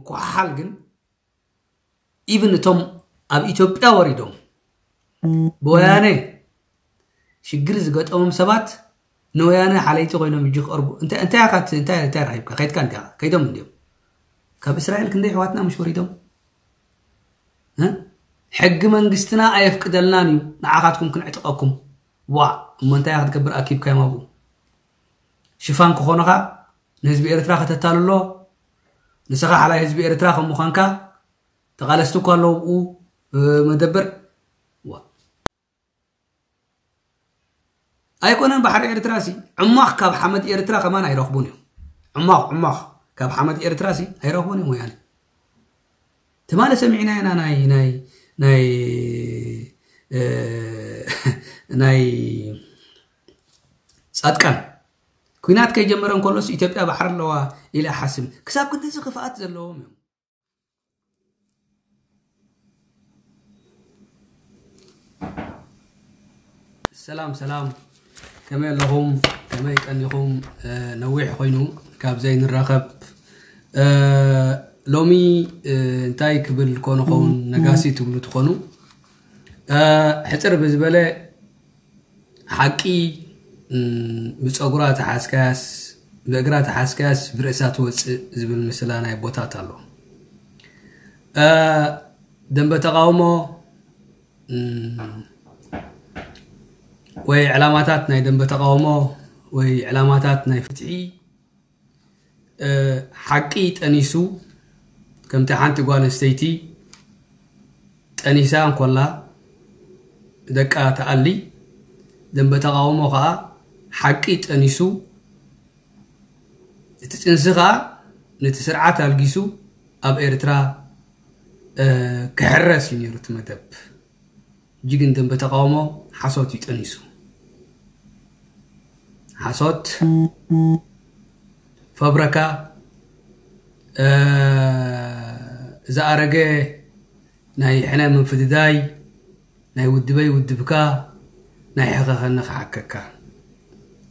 ምኩሓሓል ግን ኢቭን እቶም ኣብ ኢትዮጵያ ወሪዶም ብወያነ ሽግር ዝገጠሞም ሰባት ንወያነ ሓለይቲ ኮይኖም እጅ ክቐርቡ እንታይ እንታይ ኢኻ እንታይ እንታይ ረኺብካ ከይድካ እንታይ ከይዶም እንዲዮም ካብ እስራኤል ክንደይ ኣሕዋትና ምሽ ወሪዶም ሕጊ መንግስትና ኣየፍቅደልናን እዩ ንዓኻትኩም ክንዕጥቐኩም ዋ እሞ እንታይ ክትገብር ኣኪብካዮም ኣብኡ ሽፋን ክኾኑኻ ንህዝቢ ኤርትራ ከተታልሎ ንስኻ ሓላይ ህዝቢ ኤርትራ ከም ምዃንካ ተቓለስቲ እኳ ኣለዉ ብኡ መደበር ዋ ኣይኮነን ባሕሪ ኤርትራ ሲ ዕሟኽ ካብ ሓመድ ኤርትራ ከማን ኣይረኽቡን እዮም ዕሟኽ ዕሟኽ ካብ ሓመድ ኤርትራ ሲ ኣይረኽቡን እዮም ወያነ ትማሊ ሰሚዕና ኢና ናይ ናይ ናይ ናይ ጻድቃን ኩናት ከይጀመረ እንከሎስ ኢትዮጵያ ባሕሪ ኣለዋ ኢለ ሓስብ ክሳብ ክንድዚ ክፍኣት ዘለዎም እዮም ሰላም ሰላም ከመይ ኣለኹም ከመይ ቀኒኹም ነዊሕ ኮይኑ ካብ ዘይንራኸብ ሎሚ እንታይ ክብል ኮንኸውን ነጋሲ ትብሉ ትኾኑ ሕፅር ብዝበለ ሓቂ ብፀጉራ ተሓዝካያስ ብእግራ ተሓዝካያስ ብርእሳ ትወፅእ ዝብል ምስላ ናይ ቦታት ኣሎ ደንበ ተቃውሞ ወይ ዕላማታት ናይ ደንበ ተቃውሞ ወይ ዕላማታት ናይ ፍትሒ ሓቂ ጠኒሱ ከምቲ ሓንቲ ጓል ኣንስተይቲ ጠኒሳ እንኮላ ደቃ ተኣሊ ደንበ ተቃውሞ ከዓ ሓቂ ጠኒሱ እቲ ጥንሲ ከዓ ነቲ ስርዓት ኣልጊሱ ኣብ ኤርትራ ክሕረስ እዩ ነይሩ እቲ መደብ ጅግን ደንበ ተቃውሞ ሓሶት እዩ ጠኒሱ ሓሶት ፈብረካ ዝኣረገ ናይ ሕነ ምፍድዳይ ናይ ውድበይ ውድብካ ናይ ሕኸኸኒ ክሓከካ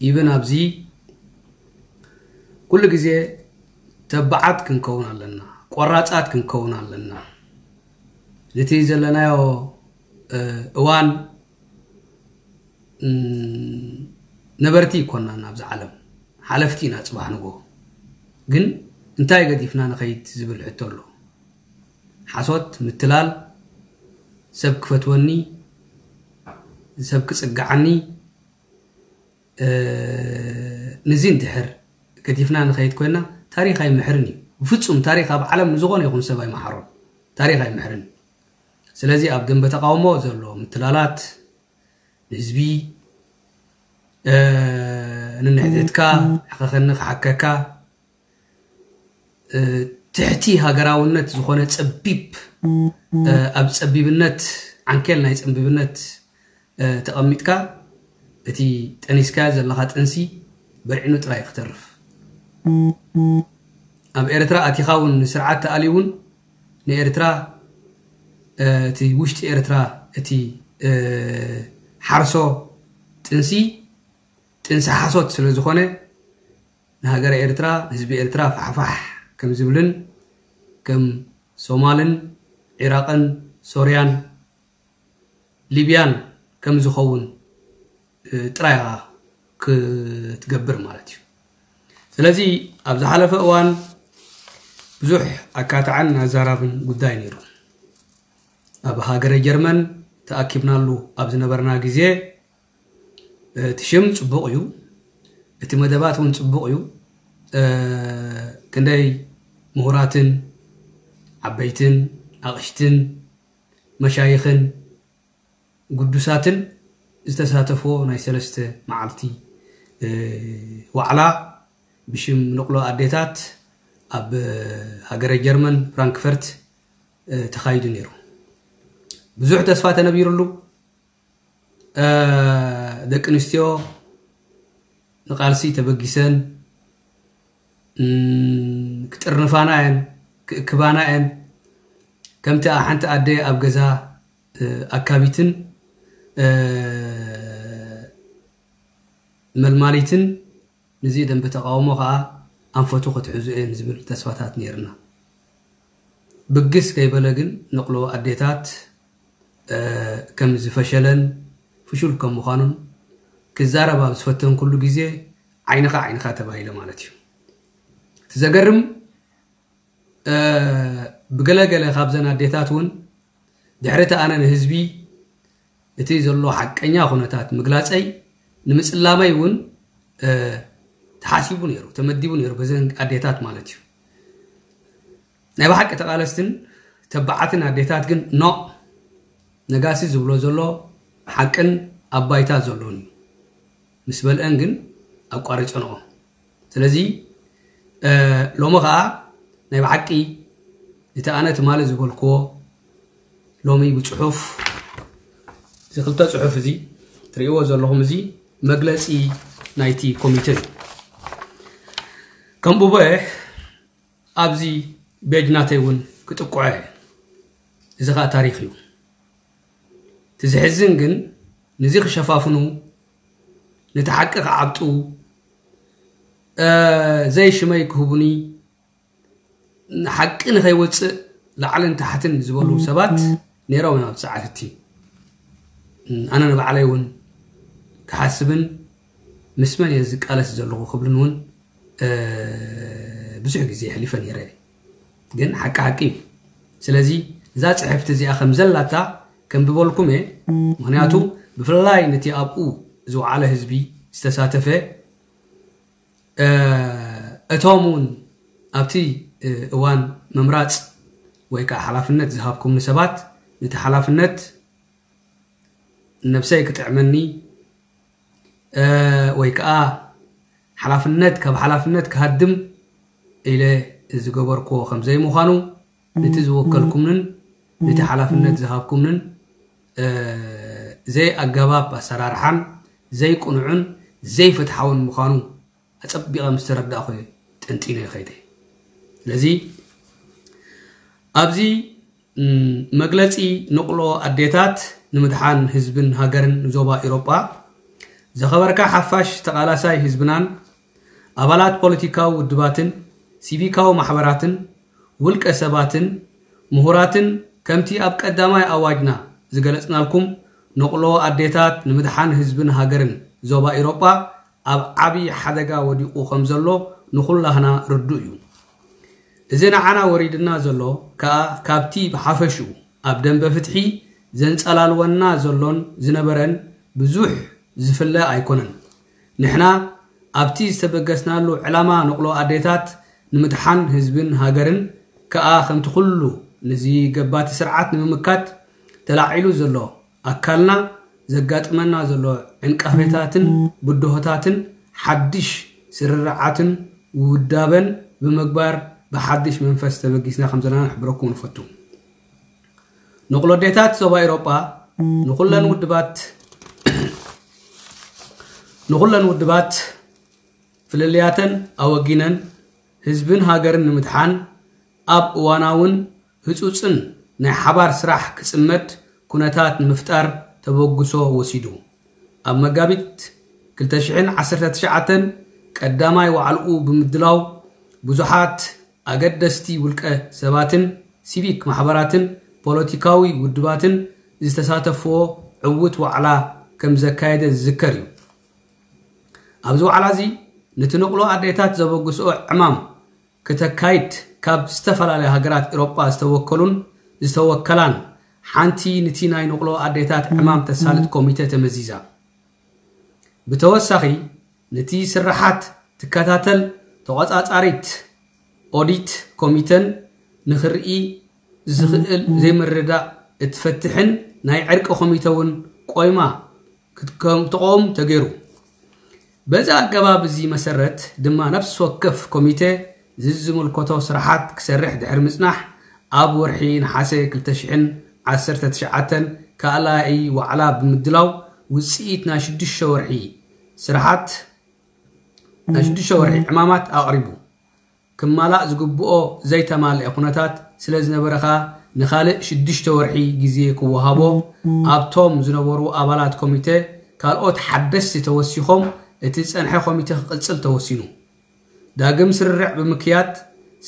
ይብን ኣብዚ ኩሉ ግዜ ተባዓት ክንከውን ኣለና ቆራፃት ክንከውን ኣለና ነቲ ዘለናዮ እዋን ነበርቲ ይኮናን ኣብዚ ዓለም ሓለፍቲ ኢና ፅባሕ ንጎ ግን እንታይ ገዲፍና ንኸይድ ዝብል ሕቶ ኣሎ ሓሶት ምትላል ሰብ ክፈትወኒ ሰብ ክፅግዓኒ ንዚ እንድሕር ገዲፍና ንኸይድ ኮይና ታሪኽ ኣይምሕርን እዩ ብፍፁም ታሪኽ ኣብ ዓለም ንዝኾነ ይኹን ሰብ ኣይመሓሮን ታሪኽ ኣይምሕርን እዩ ስለዚ ኣብ ደንበ ተቃውሞ ዘሎ ምትላላት ንህዝቢ ንንሕተትካ ሕኸኸኒ ክሓከካ ትሕቲ ሃገራውነት ዝኾነ ጸቢብ ኣብ ጸቢብነት ዓንኬል ናይ ጸቢብነት ተቐሚጥካ እቲ ጠኒስካዮ ዘለኻ ጥንሲ በርዒኑ ጥራይ ክተርፍ ኣብ ኤርትራ ኣቲኻ እውን ንስርዓት ተኣልዩ እውን ንኤርትራ እቲ ውሽጢ ኤርትራ እቲ ሓርሶ ጥንሲ ጥንሲ ሓሶት ስለ ዝኾነ ንሃገረ ኤርትራ ህዝቢ ኤርትራ ፋሕፋሕ ከም ዝብልን ከም ሶማልን ዒራቕን ሶርያን ሊብያን ከም ዝኸውን ጥራይ ክትገብር ማለት እዩ ስለዚ ኣብ ዝሓለፈ እዋን ብዙሕ ኣካትዓን ኣዛራብን ጉዳይ ነይሩ ኣብ ሃገረ ጀርመን ተኣኪብናሉ ኣብ ዝነበርና ግዜ እቲ ሽም ፅቡቕ እዩ እቲ መደባት እውን ፅቡቕ እዩ ክንደይ ምሁራትን ዓበይትን ኣቕሽትን መሻይኽን ግዱሳትን ዝተሳተፍዎ ናይ ሰለስተ መዓልቲ ዋዕላ ብሽም ንቕሎ ኣዴታት ኣብ ሃገረ ጀርመን ፍራንክፈርት ተኻይዱ ነይሩ ብዙሕ ተስፋ ተነቢሩሉ ደቂ ኣንስትዮ ንቃልሲ ተበጊሰን ክጥርንፋና እየን ክእክባና እየን ከምቲ ሓንቲ ኣደ ኣብ ገዛ ኣካቢትን መልማሊትን ንዚ ደንበ ተቃውሞ ከዓ ኣንፈቱ ክትሕዙ እየን ዝብል ተስፋታት ነይርና ብግስ ከይበለ ግን ንቕሎ ኣዴታት ከም ዝፈሸለን ፍሹል ከም ምዃኑን ክዛረብ ኣብ ዝፈተንኩሉ ግዜ ዓይንኻ ዓይንኻ ተባሂለ ማለት እዩ። እቲ ዘገርም ብገለገለ ካብዘን ኣዴታት እውን ድሕሪ እቲ ኣነ ንህዝቢ እቲ ዘሎ ሓቀኛ ኩነታት ምግላፀይ ንምፅላመይ እውን ተሓሲቡ ነይሩ፣ ተመዲቡ ነይሩ በዘን ኣዴታት ማለት እዩ። ናይ ብሓቂ ተቓለስትን ተባዓትን ኣዴታት ግን ኖ፣ ነጋሲ ዝብሎ ዘሎ ሓቅን ኣብ ባይታ ዘሎን እዩ ምስ በልአን ግን ኣቋሪፀንኦ። ስለዚ ሎሚ ከዓ ናይ ብሓቂ እቲ ኣነ ትማሊ ዝበልክዎ ሎሚ ብፅሑፍ እዚ ክልተ ፅሑፍ እዚ ትርእይዎ ዘለኹም እዚ መግለፂ ናይቲ ኮሚቴ እዩ። ከምኡ በ ኣብዚ ቤጅ ናተይ እውን ክጥቁዐ እዚ ከዓ ታሪክ እዩ። እቲ ዝሕዝን ግን ንዚ ክሸፋፍኑ ነቲ ሓቂ ክዓብጡ ዘይሽመይ ክህቡኒ ሓቂ ንኸይወፅእ ላዕልን ታሕትን ዝበሉ ሰባት ነይሮም እዮም። ኣብ ሰዓት እቲ ኣነ ንባዕለይ እውን ክሓስብን ምስ መን እየ ዝቃለስ ዘለኹ ክብልን እውን ብዙሕ ግዜ የሕሊፈ ነይረ። ግን ሓቂ ሓቂ እዩ። ስለዚ እዛ ፅሕፍቲ እዚኣ ከም ዘላታ ከንብበልኩም እየ። ምክንያቱ ብፍላይ ነቲ ኣብኡ ዝወዓለ ህዝቢ ዝተሳተፈ እቶም እውን ኣብቲ እዋን ምምራፅ ወይ ከዓ ሓላፍነት ዝሃብኩምኒ ሰባት ነቲ ሓላፍነት ነብሰይ ክጥዕመኒ ወይ ከዓ ሓላፍነት ካብ ሓላፍነት ክሃድም ኢለ ዝገበርክዎ ከም ዘይምዃኑ ነቲ ዝወከልኩምንን ነቲ ሓላፍነት ዝሃብኩምንን ዘይኣገባብ ኣሰራርሓን ዘይቅኑዕን ዘይፍትሓውን ምዃኑ ኣፀቢቐ ምስ ተረዳእኹ ጠንጢነ ይኸይደ። ስለዚ ኣብዚ መግለፂ ንቕሎ ኣዴታት ንምድሓን ህዝብን ሃገርን ዞባ ኢሮጳ ዝኸበርካ ሓፋሽ ተቓላሳይ ህዝብናን ኣባላት ፖለቲካዊ ውድባትን ሲቪካዊ ማሕበራትን ውልቀ ሰባትን ምሁራትን ከምቲ ኣብ ቀዳማይ ኣዋጅና ዝገለፅናልኩም ንቕሎ ኣዴታት ንምድሓን ህዝብን ሃገርን ዞባ ኢሮጳ ኣብ ዓብዪ ሓደጋ ወዲቑ ከም ዘሎ ንኹላህና ርዱእ እዩ። እዚ ንዓና ወሪድና ዘሎ ከኣ ካብቲ ብሓፈሽኡ ኣብ ደንበ ፍትሒ ዘንጸላልወና ዘሎን ዝነበረን ብዙሕ ዝፍለ ኣይኮነን። ንሕና ኣብቲ ዝተበገስናሉ ዕላማ ንቕሎ ኣዴታት ንምድሓን ህዝብን ሃገርን ከኣ ከምቲ ኩሉ ንዚ ገባቲ ስርዓት ንምምካት ተላዒሉ ዘሎ ኣካልና ዘጋጥመና ዘሎ ዕንቃፌታትን ብድሆታትን ሓድሽ ስርርዓትን ውዳበን ብምግባር ብሓድሽ መንፈስ ተበጊስና ከም ዘለና ንሕብረኩም ንፈቱ። ንቕሎ ኣዴታት ዞባ ኤውሮጳ ንኹለን ውድባት ንኹለን ውድባት ፍልልያተን ኣወጊነን ህዝብን ሃገርን ንምድሓን ኣብ እዋናውን ህጹጽን ናይ ሓባር ስራሕ ክጽመድ ኩነታት ንምፍጣር ተበግሶ ወሲዱ። ኣብ መጋቢት ክልተ ሽሕን ዓሰርተ ትሽዓተን ቀዳማይ ዋዕላኡ ብምድላው ብዙሓት ኣገደስቲ ውልቀ ሰባትን ሲቪክ ማሕበራትን ፖለቲካዊ ውድባትን ዝተሳተፍዎ ዕዉት ዋዕላ ከም ዘካየደ ዝዝከር እዩ። ኣብዚ ዋዕላ እዚ ነቲ ንቕሎ ኣዴታት ዘበግስኦ ዕማም ክተካይድ ካብ ዝተፈላለያ ሃገራት ኤውሮጳ ዝተወከሉን ዝተወከላን ሓንቲ ንቲ ናይ ንቕሎ ኣዴታት ዕማም ተሳልጥ ኮሚተ ተመዚዛ። ብተወሳኺ ነቲ ስርሓት ትከታተል ተቖጻጻሪት ኦዲት ኮሚተን ንኽርኢ ዝኽእል ዘይምርድዳእ እትፈትሕን ናይ ዕርቂ ኮሚተ እውን ቆይማ ክትከም- ክትቆም ተገይሩ። በዚ ኣገባብ እዚ መሰረት ድማ ነፍሲ ወከፍ ኮሚተ ዝዝምልከቶ ስራሓት ክሰርሕ ድሕሪ ምጽናሕ ኣብ ወርሒ ነሓሰ ክልተ ሽሕን ዓሰርተ ትሽዓተን ካልኣይ ዋዕላ ብምድላው ውጽኢት ናይ ሽዱሽተ ወርሒ ስራሓት ናይ ሽዱሽተ ወርሒ ዕማማት ኣቕሪቡ። ክማላእ ዝግብኦ ዘይተማልአ ኩነታት ስለ ዝነበረ ኸኣ ንኻልእ ሽዱሽተ ወርሒ ግዜ ክወሃቦ ኣብቶም ዝነበሩ ኣባላት ኮሚተ ካልኦት ሓደስቲ ተወሲኾም እቲ ዝጸንሐ ኮሚተ ክቕጽል ተወሲኑ። ዳግም ስርርዕ ብምክያድ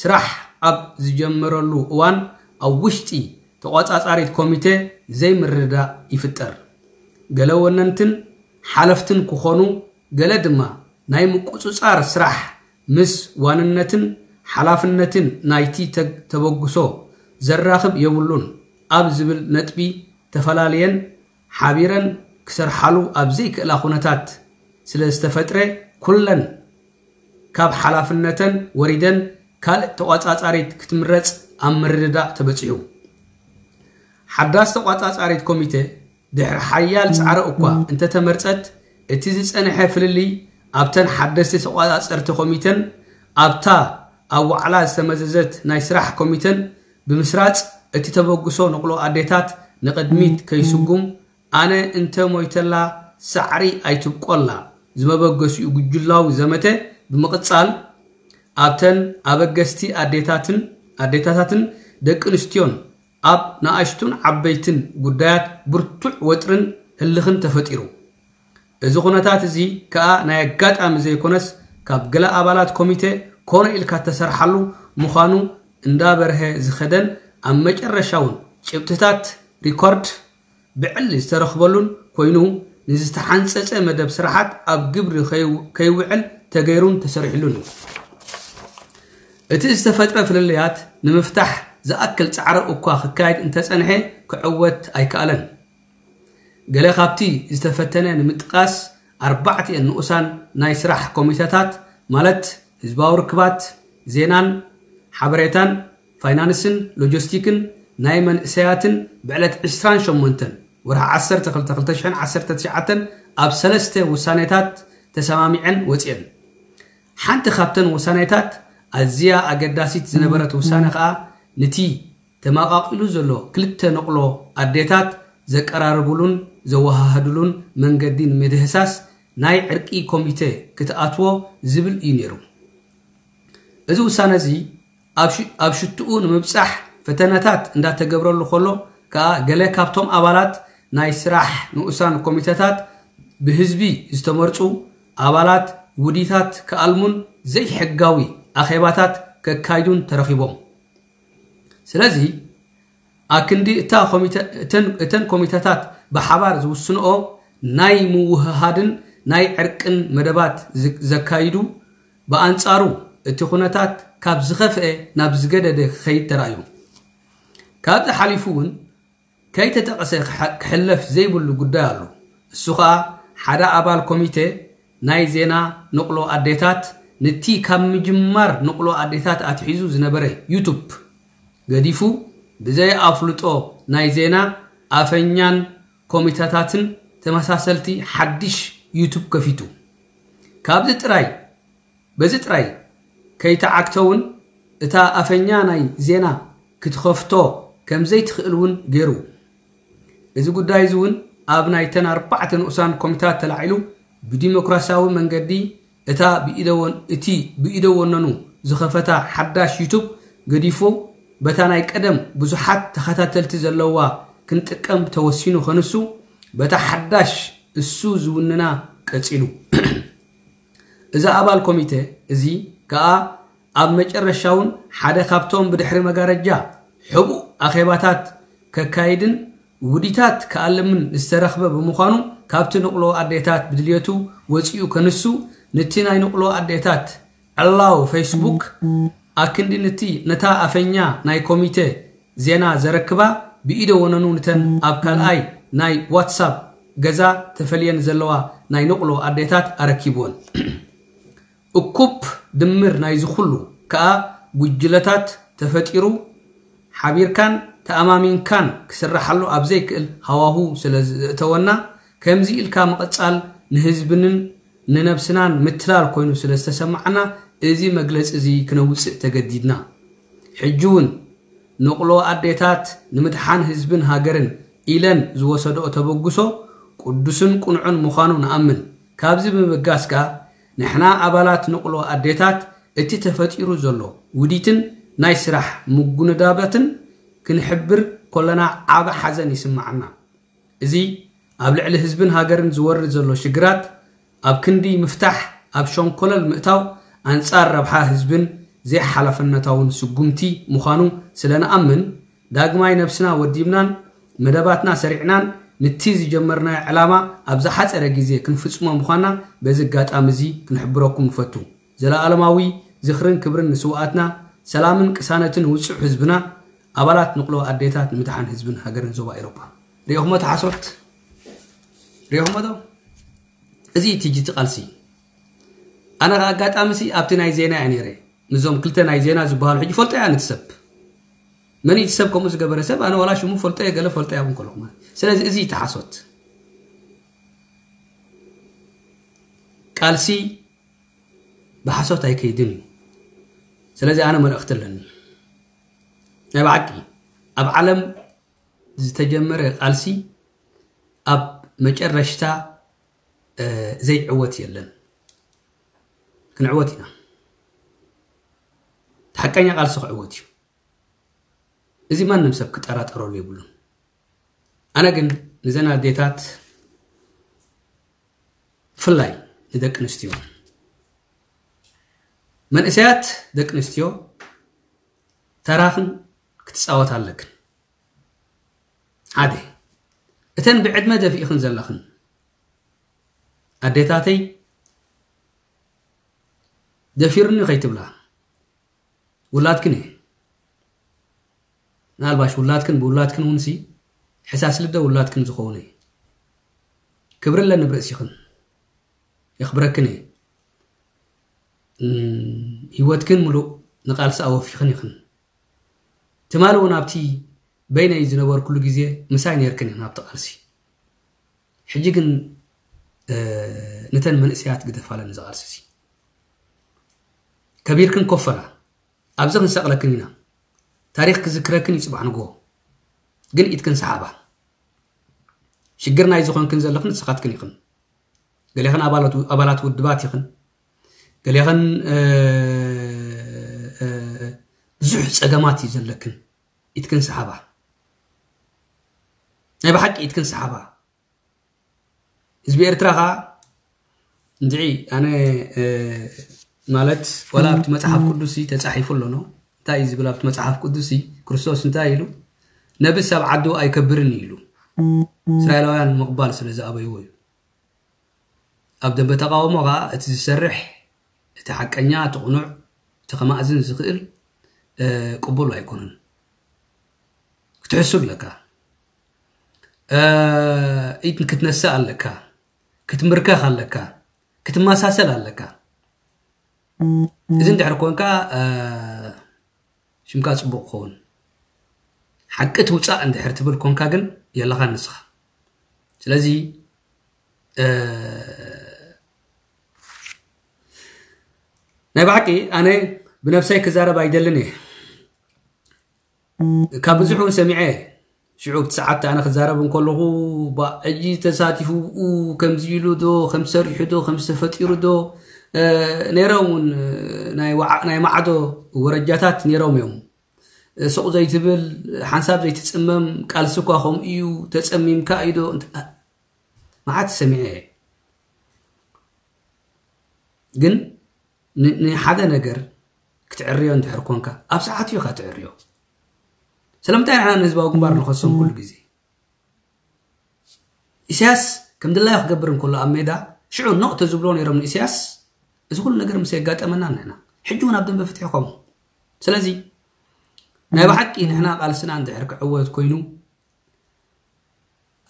ስራሕ ኣብ ዝጀመረሉ እዋን ኣብ ውሽጢ ተቖጻጻሪት ኮሚቴ ዘይምርድዳእ ይፍጠር። ገለ ወነንትን ሓለፍትን ክኾኑ፣ ገለ ድማ ናይ ምቁጽጻር ስራሕ ምስ ዋንነትን ሓላፍነትን ናይቲ ተግ-፣ ተበግሶ ዘራኽብ የብሉን ኣብ ዝብል ነጥቢ ተፈላልየን ሓቢረን ክሰርሓሉ ኣብ ዘይክእላ ኩነታት ስለ ዝተፈጥረ፣ ኩለን ካብ ሓላፍነተን ወሪደን ካልእ ተቖጻጻሪት ክትምረጽ ኣብ ምርድዳእ ተበጺሑ። ሓዳስ ተቖጻጻሪት ኮሚቴ ድሕሪ ሓያል ጻዕሪ እኳ እንተተመርጸት፣ እቲ ዝጸንሐ ፍልልይ ኣብተን ሓደስቲ ተቖጻጸርቲ ኮሚተን ኣብታ ኣብ ዋዕላ ዝተመዘዘት ናይ ስራሕ ኮሚተን ብምስራጽ፣ እቲ ተበግሶ ንቕሎ ኣዴታት ንቕድሚት ከይስጉም፣ ኣነ እንተ ሞይተላ ሳዕሪ ኣይትብቆላ ዝመበገሲኡ ጉጅላዊ ዘመተ ብምቕጻል፣ ኣብተን ኣበገስቲ ኣዴታትን ኣዴታታትን ደቂ ኣንስትዮን ኣብ ንኣሽቱን ዓበይትን ጉዳያት ብርቱዕ ወጥርን ህልኽን ተፈጢሩ። እዚ ኩነታት እዚ ከኣ ናይ ኣጋጣሚ ዘይኮነስ፣ ካብ ገለ ኣባላት ኮሚቴ ኮነ ኢልካ እተሰርሓሉ ምዃኑ እንዳበርሀ ዝኸደን፣ ኣብ መጨረሻ እውን ጭብጥታት ሪኮርድ ብዕሊ ዝተረኽበሉን ኮይኑ፣ ንዝተሓንጸጸ መደብ ስራሓት ኣብ ግብሪ ከይው-፣ ከይውዕል ተገይሩን ተሰሪሕሉን እዩ። እቲ ዝተፈጥረ ፍልልያት ንምፍታሕ ዝኣክል ጻዕሪ እኳ ክካየድ እንተጸንሐ፣ ክዕወት ኣይከኣለን። ገለ ካብቲ ዝተፈተነ ንምጥቃስ፣ ኣርባዕቲኤን ንኡሳን ናይ ስራሕ ኮሚተታት፣ ማለት ህዝባዊ ርክባት፣ ዜናን ሓበሬታን፣ ፋይናንስን ሎጂስቲክን፣ ናይ መንእሰያትን፣ ብዕለት ዕስራን ሸሞንተን ወርሒ ዓሰርተ ክልተ ክልተ ሽሕን ዓሰርተ ትሽዓተን ኣብ ሰለስተ ውሳኔታት ተሰማሚዐን ወጺኤን። ሓንቲ ካብተን ውሳኔታት፣ ኣዝያ ኣገዳሲት ዝነበረት ውሳኔ ከኣ፣ ንቲ ተመቓቒሉ ዘሎ ክልተ ንቕሎ ኣዴታት ዘቀራርብሉን ዘወሃህድሉን መንገዲ ንምድህሳስ ናይ ዕርቂ ኮሚቴ ክትኣትዎ ዝብል እዩ ነይሩ። እዚ ውሳነ እዚ ኣብ ሽ-፣ ኣብ ሽትኡ ንምብጻሕ ፈተነታት እንዳተገብረሉ ከሎ ከኣ፣ ገለ ካብቶም ኣባላት ናይ ስራሕ ንኡሳን ኮሚተታት ብህዝቢ ዝተመርጹ ኣባላት ውዲታት ክኣልሙን ዘይሕጋዊ ኣኼባታት ከካይዱን ተረኺቦም። ስለዚ፣ ኣክንዲ እታ ኮሚተ-፣ እተን፣ እተን ኮሚተታት ብሓባር ዝውስንኦ ናይ ምውህሃድን ናይ ዕርቅን መደባት ዝ-፣ ዘካይዱ፣ ብኣንጻሩ እቲ ኩነታት ካብ ዝኸፍአ ናብ ዝገደደ ክኸይድ ተራእዩ። ካብዚ ሓሊፉ እውን ከይተጠቐሰ ክሐ-፣ ክሕለፍ ዘይብሉ ጉዳይ ኣሎ። እሱ ኸኣ ሓደ ኣባል ኮሚቴ ናይ ዜና ንቕሎ ኣዴታት፣ ንቲ ካብ ምጅማር ንቕሎ ኣዴታት ኣትሒዙ ዝነበረ ዩቱብ ገዲፉ፣ ብዘይ ኣፍልጦ ናይ ዜና ኣፈኛን ኮሚተታትን ተመሳሰልቲ ሓድሽ ዩቱብ ከፊቱ። ካብዚ ጥራይ፣ በዚ ጥራይ ከይተዓግተ እውን፣ እታ ኣፈኛ ናይ ዜና ክትኸፍቶ ከም ዘይትኽእል እውን ገይሩ። እዚ ጉዳይ እዚ እውን ኣብ ናይተን ኣርባዕተ ንኡሳን ኮሚታት ተላዒሉ፣ ብዲሞክራሲያዊ መንገዲ እታ ብኢደ ወን-፣ እቲ ብኢደ ወነኑ ዝኸፈታ ሓዳሽ ዩቱብ ገዲፉ፣ በታ ናይ ቀደም ብዙሓት ተኸታተልቲ ዘለዋ ክንጥቀም ተወሲኑ ከንሱ፣ በታ ሓዳሽ እሱ ዝውንና ቀጺሉ። እዚ ኣባል ኮሚቴ እዚ ከኣ ኣብ መጨረሻ እውን ሓደ ካብቶም ብድሕሪ መጋረጃ ሕቡእ ኣኼባታት ከካይድን ውዲታት ክኣልምን ዝተረኽበ ብምዃኑ፣ ካብቲ ንቕሎ ኣዴታት ብድልየቱ ወጺኡ ከንሱ፣ ንቲ ናይ ንቕሎ ኣዴታት ዕላው ፌስቡክ ኣክንዲ ንቲ ነታ ኣፈኛ ናይ ኮሚቴ ዜና ዘረክባ ብኢደ ወነኑ ንተን ኣብ ካልኣይ ናይ ዋትሳፕ ገዛ ተፈልየን ዘለዋ ናይ ንቕሎ ኣዴታት ኣረኪብወን። እኩብ ድምር ናይዚ ኩሉ ከኣ ጉጅለታት ተፈጢሩ፣ ሓቢርካን ተኣማሚንካን ክስራሓሉ ኣብ ዘይክእል ሃዋሁ ስለ ዘእተወና፣ ከምዚ ኢልካ ምቕጻል ንህዝብንን ንነብስናን ምትላል ኮይኑ ስለ ዝተሰማዓና፣ እዚ መግለጺ እዚ ክነውጽእ ተገዲድና። ሕጂ እውን ንቕሎ ኣዴታት ንምድሓን ህዝብን ሃገርን ኢለን ዝወሰድኦ ተበግሶ ቅዱስን ቅኑዕን ምዃኑ ንኣምን። ካብዚ ብምብጋስ ከኣ፣ ንሕና ኣባላት ንቕሎ ኣዴታት እቲ ተፈጢሩ ዘሎ ውዲትን ናይ ስራሕ ምጉንዳባትን ክንሕብር ከለና ዓቢ ሓዘን ይስምዓና። እዚ ኣብ ልዕሊ ህዝብን ሃገርን ዝወርድ ዘሎ ሽግራት ኣብ ክንዲ ምፍታሕ ኣብ ሸንኮለል ምእታው ኣንጻር ረብሓ ህዝብን ዘይሓላፍነታውን ስጉምቲ ምዃኑ ስለ ንኣምን፣ ዳግማይ ነብስና ወዲብናን መደባትና ሰሪዕናን ንቲ ዝጀመርናዮ ዕላማ ኣብ ዝሓጸረ ግዜ ክንፍጽሞ ምዃና በዚ ኣጋጣሚ እዚ ክንሕብረኩም ንፈቱ። ዘለኣለማዊ ዝኽርን ክብርን ንስውኣትና፣ ሰላምን ቅሳነትን ውጹዕ ህዝብና፣ ኣባላት ንቕሎ ኣዴታት ንምድሓን ህዝብን ሃገርን ዞባ ኤሮፓ። ሪኦኹሞ እቲ ሓሶት? ሪኦኹሞ ዶ? እዚ እቲ ጅቲ ቃልሲ። ኣነ ከኣ ኣጋጣሚ ሲ ኣብቲ ናይ ዜና እየ ነይረ። ምስዞም ክልተ ናይ ዜና ዝበሃሉ ሕጂ ፈልጦ እያ ነቲ ሰብ። መን እዩ እቲ ሰብ ከምኡ ዝገበረ ሰብ? ኣነ ዋላ ሽሙ ፈልጦ እየ፣ ገለ ፈልጦ እያ እውን ከለኹ ማለት። ስለዚ እዚ እቲ ሓሶት። ቃልሲ ብሓሶት ኣይከይድን እዩ። ስለዚ ኣነ መልእኽቲ ኣለኒ። ናይ ብሓቂ ኣብ ዓለም ዝተጀመረ ቃልሲ ኣብ መጨረሽታ፣ እ፣ ዘይዕወት የለን። ክንዕወት ኢና። እቲ ሓቀኛ ቃልሲ ክዕወት እዩ። እዚ ማንም ሰብ ክጠራጠረሉ የብሉን። ኣነ ግን ንዘን ኣዴታት፣ ብፍላይ ንደቂ ኣንስትዮ፣ መንእሰያት ደቂ ኣንስትዮ፣ ተራኽን ክትጻወታ ኣለክን። ሓደ፣ እተን ብዕድመ ደፊእኽን ዘለኽን ኣዴታተይ፣ ደፊርኒ ከይትብላ፣ ውላድክን እየ። ምናልባሽ ውላድክን ብውላድክን እውን ሲ ሕሳስ ልደ ውላድክን ዝኸውን እየ። ክብሪ ኣለኒ ብርእሲኽን፣ የኽብረክን እየ። እም፣ ህይወትክን ምሉእ ንቃልሲ ኣወፊኽን ኢኽን። ትማሊ እውን ኣብቲ በይነይ ዝነበርኩሉ ግዜ ምሳይ ነይርክን ኢኽን ኣብቲ ቃልሲ። ሕጂ ግን፣ እ፣ ነተን መንእሰያት ግደፋለን እዚ ቃልሲ እዚ። ከቢርክን ኮፈላ፣ ኣብዚ ክንሰቕለክን ኢና። ታሪኽ ክዝክረክን እዩ ጽባሕ ንግሆ። ግን ኢድክን ሰሓባ። ሽግር ናይ ዝኾንክን ዘለኽን ንስኻትክን ኢኽን። ገሌኽን ኣባላት፣ ኣባላት ውድባት ኢኽን። ገሌኽን፣ እ፣ እ፣ ብዙሕ ጸገማት እዩ ዘለክን። ኢድክን ሰሓባ። ናይ ብሓቂ ኢድክን ሰሓባ። ህዝቢ ኤርትራ ኸኣ እንድዒ ኣነ፣ እ፣ ማለት ዋላ ኣብቲ መጽሓፍ ቅዱስ ተጻሒፉ ኣሎ፣ ኖ? እንታይ እዩ ዝብል ኣብቲ መጽሓፍ ቅዱስ? ክርስቶስ እንታይ ኢሉ? ነብስ ኣብ ዓዱ ኣይከብርን እዩ ኢሉ። እስራኤላውያን ምቕባል ስለ ዝኣበይዎ እዩ። ኣብ ደንበ ተቃውሞ ኸኣ እቲ ዝሰርሕ፣ እቲ ሓቀኛ፣ እቲ ቅኑዕ፣ እቲ ከማእዝን ዝኽእል፣ እ፣ ቅቡል ኣይኮነን። ክትሕሱ ኣለካ። እ፣ ኢድ ክትነስእ ኣለካ። ክትምርከኽ ኣለካ። ክትመሳሰል ኣለካ። እዚ እንድሕር ኮንካ፣ እ፣ ሽምካ ጽቡቕ ክኸውን። ሓቂ ትውጻእ እንድሕር ትብል ኮንካ ግን የለኻን ንስኻ። ስለዚ፣ እ፣ ናይ ብሓቂ ኣነ ብነብሰይ ክዛረብ ኣይደልን እየ። ካብ ብዙሕ እውን ሰሚዐ። ሽዑ ኣብቲ ሰዓት ኣነ ክዛረብ እንከለኹ፣ ባ፣ ሕጂ ተሳቲፉ ብኡ ከምዚ ኢሉ ዶ፣ ከምዚ ሰሪሑ ዶ፣ ከምዚ ተፈጢሩ ዶ፣ እ፣ ነይሮም እውን፣ እ፣ ናይ ወዓ-፣ ናይ ማዕዶ ወረጃታት ነይሮም እዮም። እ፣ ሱቕ ዘይትብል፣ ሓንሳብ ዘይትጽመም፣ ቃልሲ እኳ ከምኡ እዩ፣ ተጸሚምካ እዩ ዶ፣ እንተ-፣ መዓት ሰሚዐ እየ። ግን ን-፣ ንሓደ ነገር ክትዕርዮ እንድሕር ኮንካ፣ ኣብ ሰዓቱ ኢኻ ትዕርዮ። ስለምንታይ ንሕና ንህዝባዊ ግንባር ንኸሶም ኩሉ ግዜ? ኢሳያስ ከም ድላዩ ክገብር እንከሎ ኣብ ሜዳ፣ ሽዑ ኖቕ ተዝብሎ ነይሮም ንኢሳያስ፣ እዚ ኩሉ ነገር ምስ የጋጠመና ንሕና። ሕጂ እውን ኣብ ደንበ ፍትሒ ከምኡ። ስለዚ ናይ ብሓቂ ንሕና ቃልስና እንድሕር ክዕወት ኮይኑ፣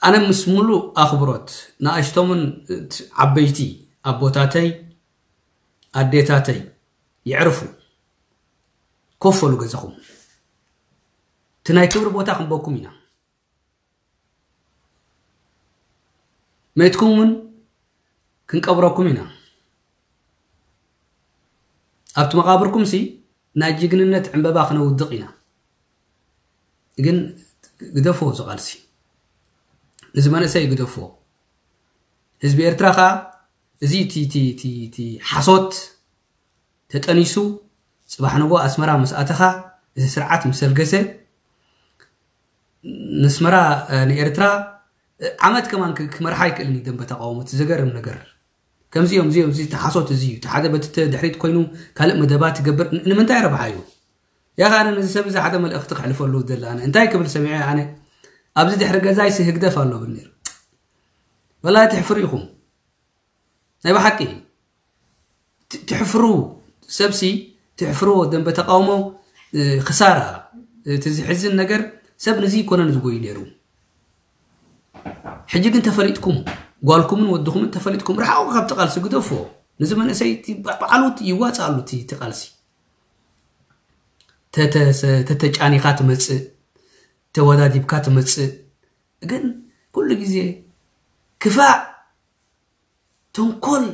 ኣነ ምስ ሙሉእ ኣኽብሮት ንኣሽቶምን ዓበይቲ ኣቦታተይ፣ ኣዴታተይ፣ የዕርፉ፣ ኮፍ በሉ ገዛኹም። እቲ ናይ ክብሪ ቦታ ክንበኩም ኢና። መይትኩም እውን ክንቀብረኩም ኢና። ኣብቲ መቓብርኩም ሲ ናይ ጅግንነት ዕምበባ ክነውድቕ ኢና። ግን ግደፍዎ እዚ ቃልሲ። እዚ መንእሰይ ግደፍዎ። ህዝቢ ኤርትራ ኸኣ እዚ እቲ፣ እቲ፣ እቲ፣ እቲ ሓሶት ተጠኒሱ፣ ጽባሕ ንግሆ ኣስመራ ምስ ኣተኻ፣ እዚ ስርዓት ምስ ኣልገሰ፣ ንኣስመራ፣ እ፣ ንኤርትራ፣ እ፣ ዓመት ከማን ክ-፣ ክመርሓ ኣይክእልን እዩ ደንበ ተቃውሞ። እቲ ዘገርም ነገር። ከምዚ እዮም፣ እዚ እዮም፣ እዚ ተሓሶት እዚ እዩ። እቲ ሓደ በቲ ተ-፣ ድሕሪት ኮይኑ ካልእ መደባት ይገብር። ን-፣ ንምንታይ ረብሓ እዩ? ያኻ ኣነ ነዚ ሰብ እዚ ሓደ መልእኽቲ ክሕልፈሉ ደለ ኣነ እንታይ ክብል ሰሚዐ ኣነ ኣብዚ ድሕሪ ገዛይሲ ህግደፍ ኣሎ ብል ነይሩ። ወላሂ ትሕፍሩ ኢኹም ናይ ብሓቂ ትሕፍሩ። ሰብሲ ትሕፍርዎ ደንበ ተቃውሞ ክሳራ። እቲ ዝሕዝን ነገር ሰብ ንዚ ይኮነን ዝጎዩ ነይሩ። ሕጂ ግን ተፈሊጥኩም ጓልኩምን ወድኹምን ተፈሊጥኩም ርሓቑ ካብቲ ቃልሲ ግደፍዎ። ንዚ መንእሰይ በዓሉ ይዋፅኣሉ እቲ ቃልሲ። ተተጫኒኻ ትመፅእ፣ ተወዳዲብካ ትመፅእ። ግን ኩሉ ግዜ ክፋእ፣ ተንኮል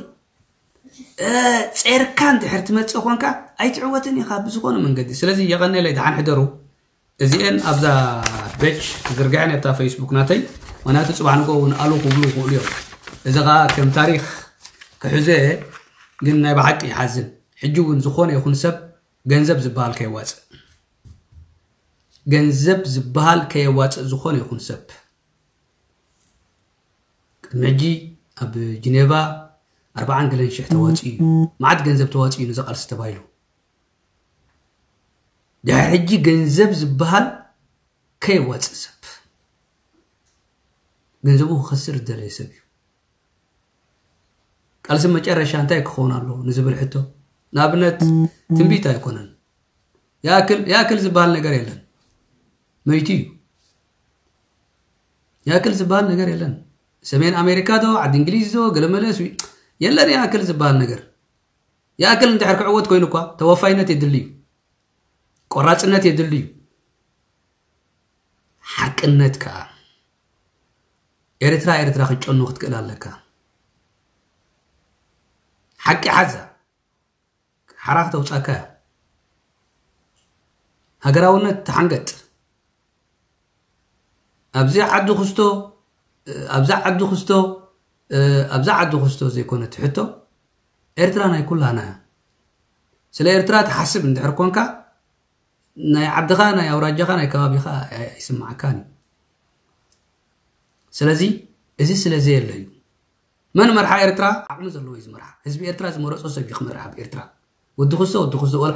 ጼርካ እንድሕር ትመፅእ ኮንካ ኣይትዕወትን ኢኻ ብዝኾነ መንገዲ። ስለዚ የቐነለይ ደሓን ሕደሩ። እዚኤን ኣብዛ ቤጅ ዝርግሐን ኣብታ ፌስቡክ ናተይ። ምክንያቱ ፅባሕ ንጎ እውን ኣሉ ክብሉ ይኽእሉ እዮም። እዚ ከዓ ከም ታሪክ ክሕዞ እየ። ግን ናይ ብሓቂ ይሓዝን። ሕጂ እውን ዝኾነ ይኹን ሰብ ገንዘብ ዝበሃል ከየዋፅእ፣ ገንዘብ ዝበሃል ከየዋፅእ ዝኾነ ይኹን ሰብ። ቅድሚ ሕጂ ኣብ ጅኔቫ ኣርባዓን ገለን ሽሕ ተዋፂኡ እዩ። መዓት ገንዘብ ተዋፂኡ እዩ ንዚ ቃልሲ ተባሂሉ። ድሕሪ ሕጂ ገንዘብ ዝበሃል ከየዋፅእ ሰብ ገንዘቡ ክኸስር ዝደለየ ሰብ እዩ። ቃልሲ መጨረሻ እንታይ ክኸውን ኣሎ ንዝብል ሕቶ ንኣብነት ትንቢት ኣይኮነን። ይኣክል ዝበሃል ነገር የለን። መይቱ እዩ። ይኣክል ዝበሃል ነገር የለን። ሰሜን ኣሜሪካ ዶ ዓዲ እንግሊዝ ዶ ገለመለ የለን። ይኣክል ዝበሃል ነገር ይኣክል እንድሕር ክዕወት ኮይኑ እኳ ተወፋይነት የድሊ እዩ። ቆራፅነት የድሊ እዩ። ሓቅነት ከዓ ኤርትራ ኤርትራ ክትጨኑ ክትክእል ኣለካ። ሓቂ ሓዛ ሓራ ክተውፃካ እያ። ሃገራውነት ተሓንገጥ። ኣብዚ ዓዲ ክስቶ ኣብዛ ዓዲ ክስቶ ኣብዛ ዓዲ ክስቶ ዘይኮነ ትሕቶ ኤርትራ ናይ ኩላና እያ። ስለ ኤርትራ ትሓስብ እንድሕር ኮንካ ናይ ዓድኻ ናይ ኣውራጃኻ ናይ ከባቢኻ ኣይስማዓካን እዩ። ስለዚ እዚ ስለ ዘየለ እዩ። መን መርሓ ኤርትራ ዓቕሚ ዘለዎ እዩ ዝመርሓ። ህዝቢ ኤርትራ ዝመረፆ ሰብ እዩ ክመርሕ ኣብ ኤርትራ። ወዲ ክስቶ ወዲ ክስቶ ወላ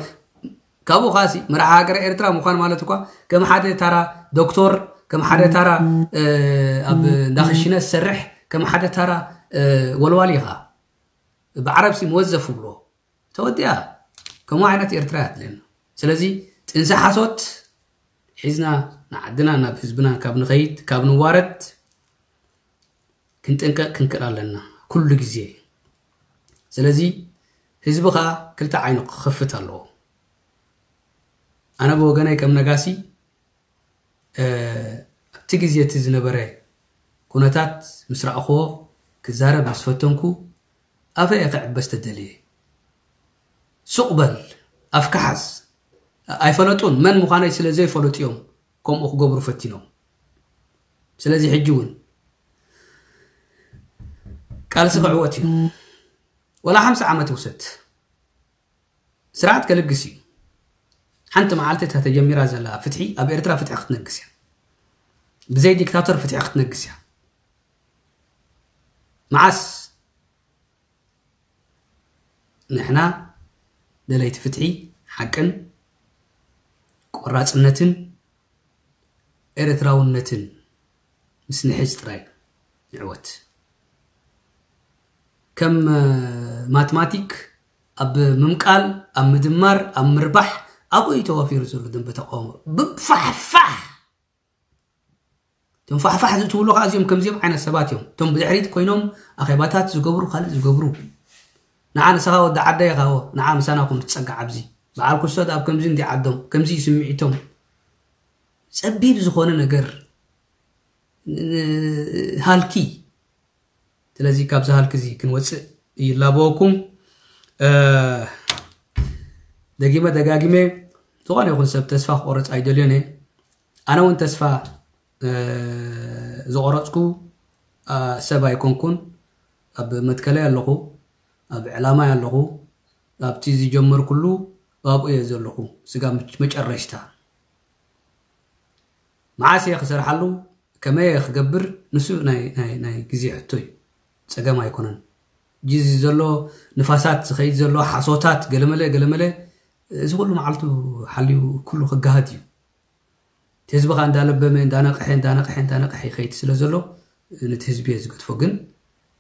ካብኡ ኻሲ መርሓ ሃገረ ኤርትራ ምዃን ማለት እኳ ከም ሓደ ታራ ዶክተር ከም ሓደ ታራ ኣብ እንዳኽሽነ ዝሰርሕ ከም ሓደ ታራ ወልዋል ኢኻ። ብዓረብሲ መወዘፍ ብሎ ተወዲኣ። ከምኡ ዓይነት ኤርትራ እያ ትለና። ስለዚ ጥንሲ ሓሶት ሒዝና ንዓድና ናብ ህዝብና ካብ ንኸይድ ካብ ንዋረድ ክንጥንቀቕ ክንክእል ኣለና ኩሉ ግዜ። ስለዚ ህዝቢ ኸዓ ክልተ ዓይኑ ክኸፍት ኣለዎ። ኣነ ብወገነይ ከም ነጋሲ ኣብቲ ግዜ እቲ ዝነበረ ኩነታት ምስ ረኣኽዎ ክዛረብ ምስ ፈተንኩ ኣፈ እየ ክዕበስ ተደልየ። ሱቕ በል ኣፍካ ሓዝ። ኣይፈለጡን መን ምዃነይ ስለ ዘይፈለጡ እዮም ከምኡ ክገብሩ ፈቲኖም። ስለዚ ሕጂ እውን ቃልሲ ክዕወት እዩ። ወላ ሓምሳ ዓመት ይውሰድ ስርዓት ከልግስ እዩ። ሓንቲ መዓልቲ እታ ተጀሚራ ዘላ ፍትሒ ኣብ ኤርትራ ፍትሒ ክትነግስ እያ። ብዘይ ዲክታቶር ፍትሒ ክትነግስ እያ። መዓስ ንሕና ደለይቲ ፍትሒ ሓቅን ቆራፅነትን ኤርትራውነትን ምስ ንሕዝ ጥራይ ንዕወት። ከም ማትማቲክ ኣብ ምምቃል ኣብ ምድማር ኣብ ምርባሕ ኣብኡ እዩ ተዋፊሩ ዘሎ ደንበ ተቃውሞ ብፋሕፋሕ። እቶም ፋሕፋሕ ዝትብሉ ከዓ እዚኦም ከምዚኦም ዓይነት ሰባት እዮም። እቶም ብድሕሪት ኮይኖም ኣኼባታት ዝገብሩ ካልእ ዝገብሩ ንዓ ንስኻ ወዲ ዓዳ ኢኻዎ ንዓ ምሳና ኩን ትፀጋዕ ኣብዚ በዓል ክስቶ ኣብ ከምዚ እንዲ ዓዶም ከምዚ ስምዒቶም ጸቢብ ዝኾነ ነገር ሃልኪ። ስለዚ ካብዚ ሃልኪ እዚ ክንወፅእ ይላበወኩም። ደጊመ ደጋጊመ ዝኾነ ይኹን ሰብ ተስፋ ክቆርፅ ኣይደልዮን እየ። ኣነ እውን ተስፋ ዝቆረፅኩ ሰብ ኣይኮንኩን። ኣብ መትከለይ ኣለኹ፣ ኣብ ዕላማይ ኣለኹ። ኣብቲ ዝጀመርኩሉ ኣብኡ እየ ዘለኹ። ስጋ መጨረሽታ መዓስ እየ ክሰርሓሉ ከመይ እየ ክገብር ንሱ ናይ ግዜ ሕቶ እዩ። ፀገም ኣይኮነን። ጂ እዚ ዘሎ ንፋሳት ዝኸይድ ዘሎ ሓሶታት ገለመለ ገለመለ እዚ ኩሉ መዓልቱ ሓልዩ ኩሉ ክጋሃድ እዩ። እቲ ህዝቢ ከዓ እንዳለበመ እንዳነቕሐ እንዳነቕሐ እንዳነቕሐ ይኸይድ ስለ ዘሎ ነቲ ህዝቢ እየ ዝገድፎ። ግን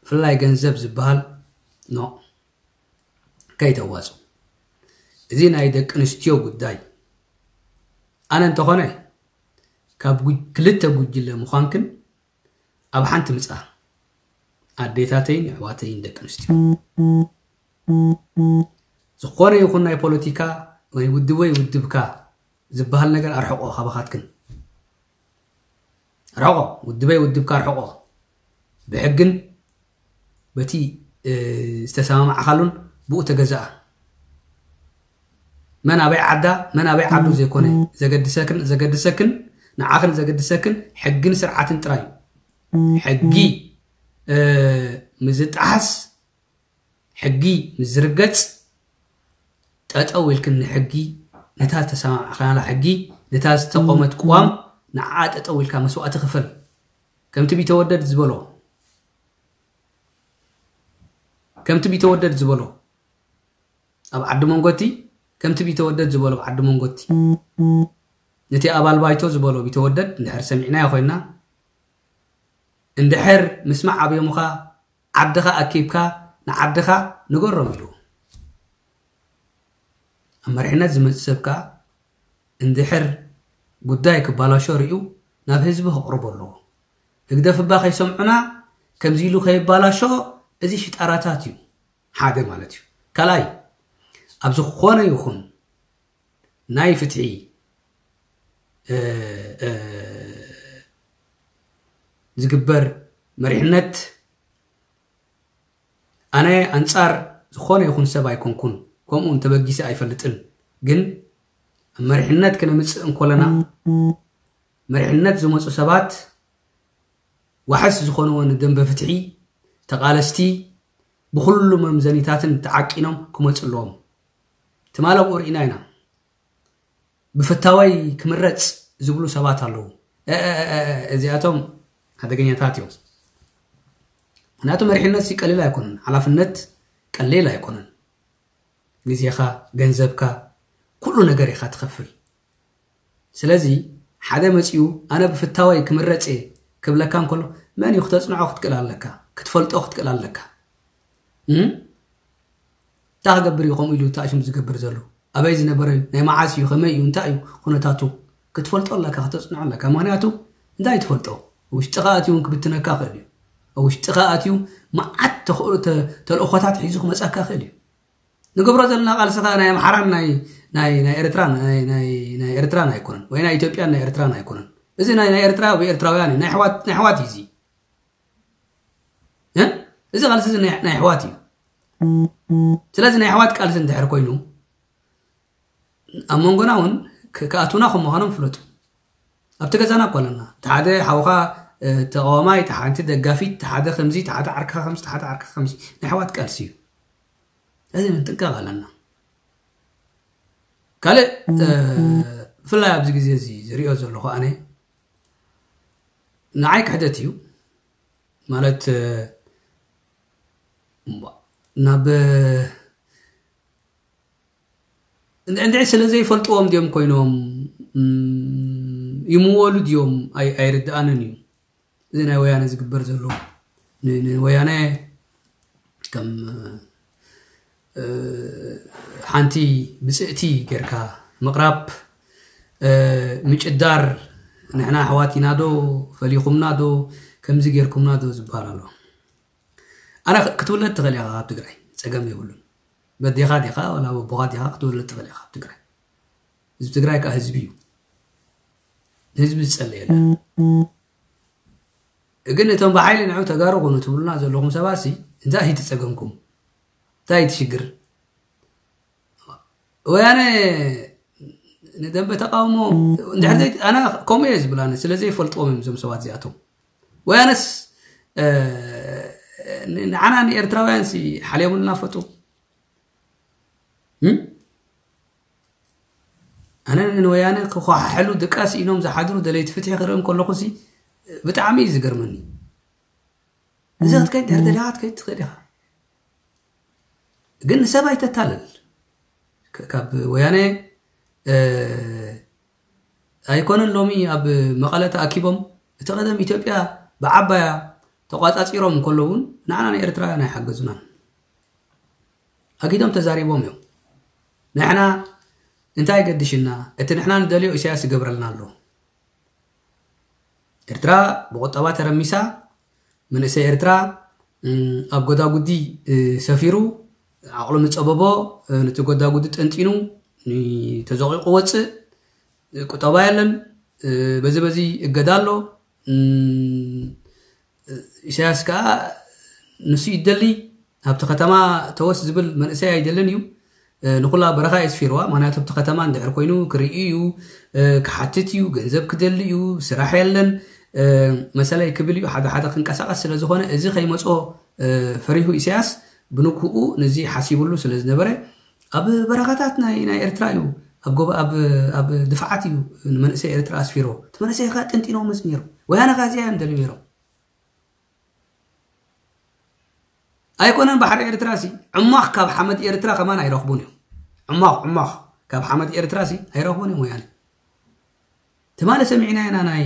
ብፍላይ ገንዘብ ዝበሃል ኖ፣ ከይተዋፁ። እዚ ናይ ደቂ ኣንስትዮ ጉዳይ ኣነ እንተኾነ ካብ ጉ- ክልተ ጉጅለ ምዃንክን ኣብ ሓንቲ ምፃ፣ ኣዴታተይን ኣሕዋተይን ደቂ ኣንስትዮ። ዝኾነ ይኹን ናይ ፖለቲካ ወይ ውድብ ወይ ውድብካ ዝበሃል ነገር ኣርሕቆ ካባኻትክን። ኣርሕቆ፣ ውድበይ ውድብካ ኣርሕቆ። ብሕግን በቲ ዝተሰማማዕካሉን ብኡ ተገዛኣ። መን ኣበይ ዓዳ መን ኣበይ ዓዱ ዘይኮነ ዘገድሰክን ዘገድሰክን ንዓኽን ዘገድሰክን ሕግን ስርዓትን ጥራይ እዩ። ሕጊ ምዝጣሓስ፣ ሕጊ ምዝርገፅ፣ ጠጠው ኢልክን ንሕጊ፣ ነታ ዝተሰማማዕካላ ሕጊ፣ ነታ ዝተቆመት ቅዋም ንዓ ጠጠው ኢልካ መስዋእቲ ክፈል። ከምቲ ቢተወደድ ዝበሎ ከምቲ ቢተወደድ ዝበሎ ኣብ ዓዲ መንጎቲ ከምቲ ቢተወደድ ዝበሎ ኣብ ዓዲ መንጎቲ ነቲ ኣባል ባይቶ ዝበሎ ቢተወደድ እንድሕር ሰሚዕናዮ ኮይና፣ እንድሕር ምስማዕ ኣብዮምኻ ዓድኻ ኣኪብካ ንዓድኻ ንገሮም ኢሉ። ኣብ መሪሕነት ዝመፅእ ሰብ ከዓ እንድሕር ጉዳይ ክባላሾ ርእዩ ናብ ህዝቢ ከቕርቦ ኣለዎ። ህግደፍ እባ ከይሰምዑና ከምዚ ኢሉ ከይባላሾ እዚ ሽጣራታት እዩ። ሓደ ማለት እዩ። ካልኣይ ኣብ ዝኾነ ይኹን ናይ ፍትሒ ዝግበር መሪሕነት ኣነ ኣንጻር ዝኾነ ይኹን ሰብ ኣይኮንኩን፣ ከምኡ እውን ተበጊሰ ኣይፈልጥን። ግን ኣብ መሪሕነት ክነምጽእ እንኮለና መሪሕነት ዝመፁ ሰባት ዋሕስ ዝኾንዎ ንደንበ ፍትሒ ተቓለስቲ ብኹሉ መምዘኒታትን ተዓቂኖም ክመፁ ኣለዎም። ትማል ኣብኡ ርኢና ኢና። ብፍታወይ ክምረፅ ዝብሉ ሰባት ኣለዉ። እዚኣቶም ሓደገኛታት እዮም። ምክንያቱ መሪሕነት ቀሊል ኣይኮነን፣ ሓላፍነት ቀሊል ኣይኮነን። ግዜኻ፣ ገንዘብካ፣ ኩሉ ነገር ኢኻ ትኸፍል። ስለዚ ሓደ መፂኡ ኣነ ብፍታወይ ክምረፅ እየ ክብለካ እንከሎ መን እዩ ክተፅንዖ ክትክእል ኣለካ፣ ክትፈልጦ ክትክእል ኣለካ። እንታይ ክገብር እዩ ከምኡ ኢሉ ተኣሽሙ ዝገብር ዘሎ? ኣበይ ዝነበረ እዩ? ናይ መዓስ እዩ? ከመይ እዩ? እንታይ እዩ ኩነታቱ? ክትፈልጦ ኣለካ፣ ከተፅንዖ ኣለካ። ምክንያቱ እንታይ ትፈልጦ? ውሽጥኻ ኣትዩ እውን ክብትነካ ክእል እዩ። ኣብ ውሽጥኻ ኣትዩ መዓት ተልእኾታት ሒዙ ክመፀካ ክእል እዩ። ንገብሮ ዘለና ቃልሲ ከዓ ናይ ኣምሓራን ናይ ናይ ናይ ኤርትራን ናይ ናይ ናይ ኤርትራን ኣይኮነን፣ ወይ ናይ ኢትዮጵያን ናይ ኤርትራን ኣይኮነን። እዚ ናይ ናይ ኤርትራ ወይ ኤርትራውያን እዩ፣ ናይ ኣሕዋት ናይ ኣሕዋት እዩ እዚ። እ? እዚ ቃልሲ እዚ ናይ ናይ ኣሕዋት እዩ። ስለዚ ናይ ኣሕዋት ቃልሲ እንድሕር ኮይኑ ኣብ መንጎና እውን ክ- ክኣትውና ከም ምዃኖም ፍለጡ። ኣብቲ ገዛና እኮ ኣለና። እቲ ሓደ ሓውኻ እ፣ ተቃዋማይ፣ እቲ ሓንቲ ደጋፊት፣ እቲ ሓደ ከምዚ፣ እቲ ሓደ ዓርካ ከምዚ፣ እቲ ሓደ ዓርካ ከምዚ ናይ ኣሕዋት ቃልሲ እዩ። እዚ ምጥንቃቕ ኣለና። ካልእ እ፣ ብፍላይ ኣብዚ ግዜ እዚ ዝሪኦ ዘለኹ ኣነ ንዓይ ክሕደት እዩ ማለት እ፣ እምቧ፣ ናብ እንድዕድዕ ስለ ዘይፈልጥዎም ድዮም ኮይኖም ይምወሉ ድዮም ኣይርድኣንን እዩ። እዚ ናይ ወያነ ዝግበር ዘሎ ንወያነ ከም ሓንቲ ብፅእቲ ጌርካ ምቕራብ፣ ምጭዳር፣ ንሕና ኣሕዋት ኢና ዶ ፈሊኹምና ዶ ከምዚ ጌርኩምና ዶ ዝበሃል ኣሎ። ኣነ ክትውለድ ትኽእል ኢኻ ካብ ትግራይ፣ ፀገም የብሉን። በዴኻ ዲኻ ወላ በቦኻ ዲኻ ክትውለድ ትኽእል ኢኻ ካብ ትግራይ። ህዝቢ ትግራይ ከዓ ህዝቢ እዩ። ንህዝቢ ዝፀልእ የለን። ግን እቶም ብሓይሊ ንዑ ተጋሩ ኩኑ ትብሉና ዘለኹም ሰባት ሲ እንታይ እዩ ትፀገምኩም? እንታይ እዩ ትሽግር? ወያነ ንደንበ ተቃውሞ እንድሕር ዘይ ኣነ ከምኡ እየ ዝብል ኣነ ስለ ዘይፈልጥዎም እዮም እዞም ሰባት እዚኣቶም። ወያነስ ንዓና ንኤርትራውያን ሲ ሓልዮምልና ፈጡ። ኣነ ንወያነ ክኳሓሕሉ ድቃስ ኢኖም ዝሓድሩ ደለይቲ ፍትሒ ክርኢ ከለኹ ሲ ብጣዕሚ እዩ ዝገርመኒ። እዚ ክትከይድ ድሕር ደሊኻ ክትከይድ ትኽእል ኢኻ። ግን ንሰብ ኣይተታልል። ካብ ወያነ ኣይኮነን ሎሚ ኣብ መቐለ ተኣኪቦም እቲ ቀደም ኢትዮጵያ ብዓባያ ተቋፃፂሮም እንከለውን ንዓና ንኤርትራውያን ኣይሓገዙናን። ኣጊዶም ተዛሪቦም እዮም። ንሕና እንታይ ገድሽና? እቲ ንሕና ንደልዮ ኢሳያስ ይገብረልና ኣሎ። ኤርትራ ብቁጠባ ተረሚሳ፣ መንእሰይ ኤርትራ ኣብ ጎዳጉዲ ሰፊሩ፣ ዓቕሉ ምጸበቦ፣ ነቲ ጎዳጉዲ ጠንጢኑ ተዘቂቑ ወፅእ። ቁጠባ የለን። በዚ በዚ እገዳ ኣሎ። ኢሳያስ ከዓ ንሱ ይደሊ፣ ኣብቲ ከተማ ተወስ ዝብል መንእሰይ ኣይደልን እዩ። ንኩላ በረኻ እየ ስፊርዋ። ምክንያቱ ኣብቲ ከተማ እንድሕር ኮይኑ ክርኢ እዩ፣ ክሓትት እዩ፣ ገንዘብ ክደሊ እዩ፣ ስራሕ የለን፣ መሰለይ ክብል እዩ፣ ሓደ ሓደ ክንቀሳቀስ ስለ ዝኾነ፣ እዚ ከይመጾ ፈሪሁ ኢሳያስ ብንኩኡ ንዚ ሓሲብሉ ስለ ዝነበረ፣ ኣብ በረኻታት ናይ ኤርትራ እዩ፣ ኣብ ድፍዓት እዩ ንመንእሰይ ኤርትራ ኣስፊርዎ። እቲ መንእሰይ ከ ጥንጢኖምስ ነይሩ። ወያነ ከ እዚኣ እዮም ደልዩ ነይሮም። ኣይኮነን ባሕሪ ኤርትራ ሲ ዕሟኽ ካብ ሓመድ ኤርትራ ከማን ኣይረኽቡን እዮም። ዕሟኽ ዕሟኽ ካብ ሓመድ ኤርትራ ሲ ኣይረኽቡን እዮም ወያነ። ትማሊ ሰሚዕና ኢና ናይ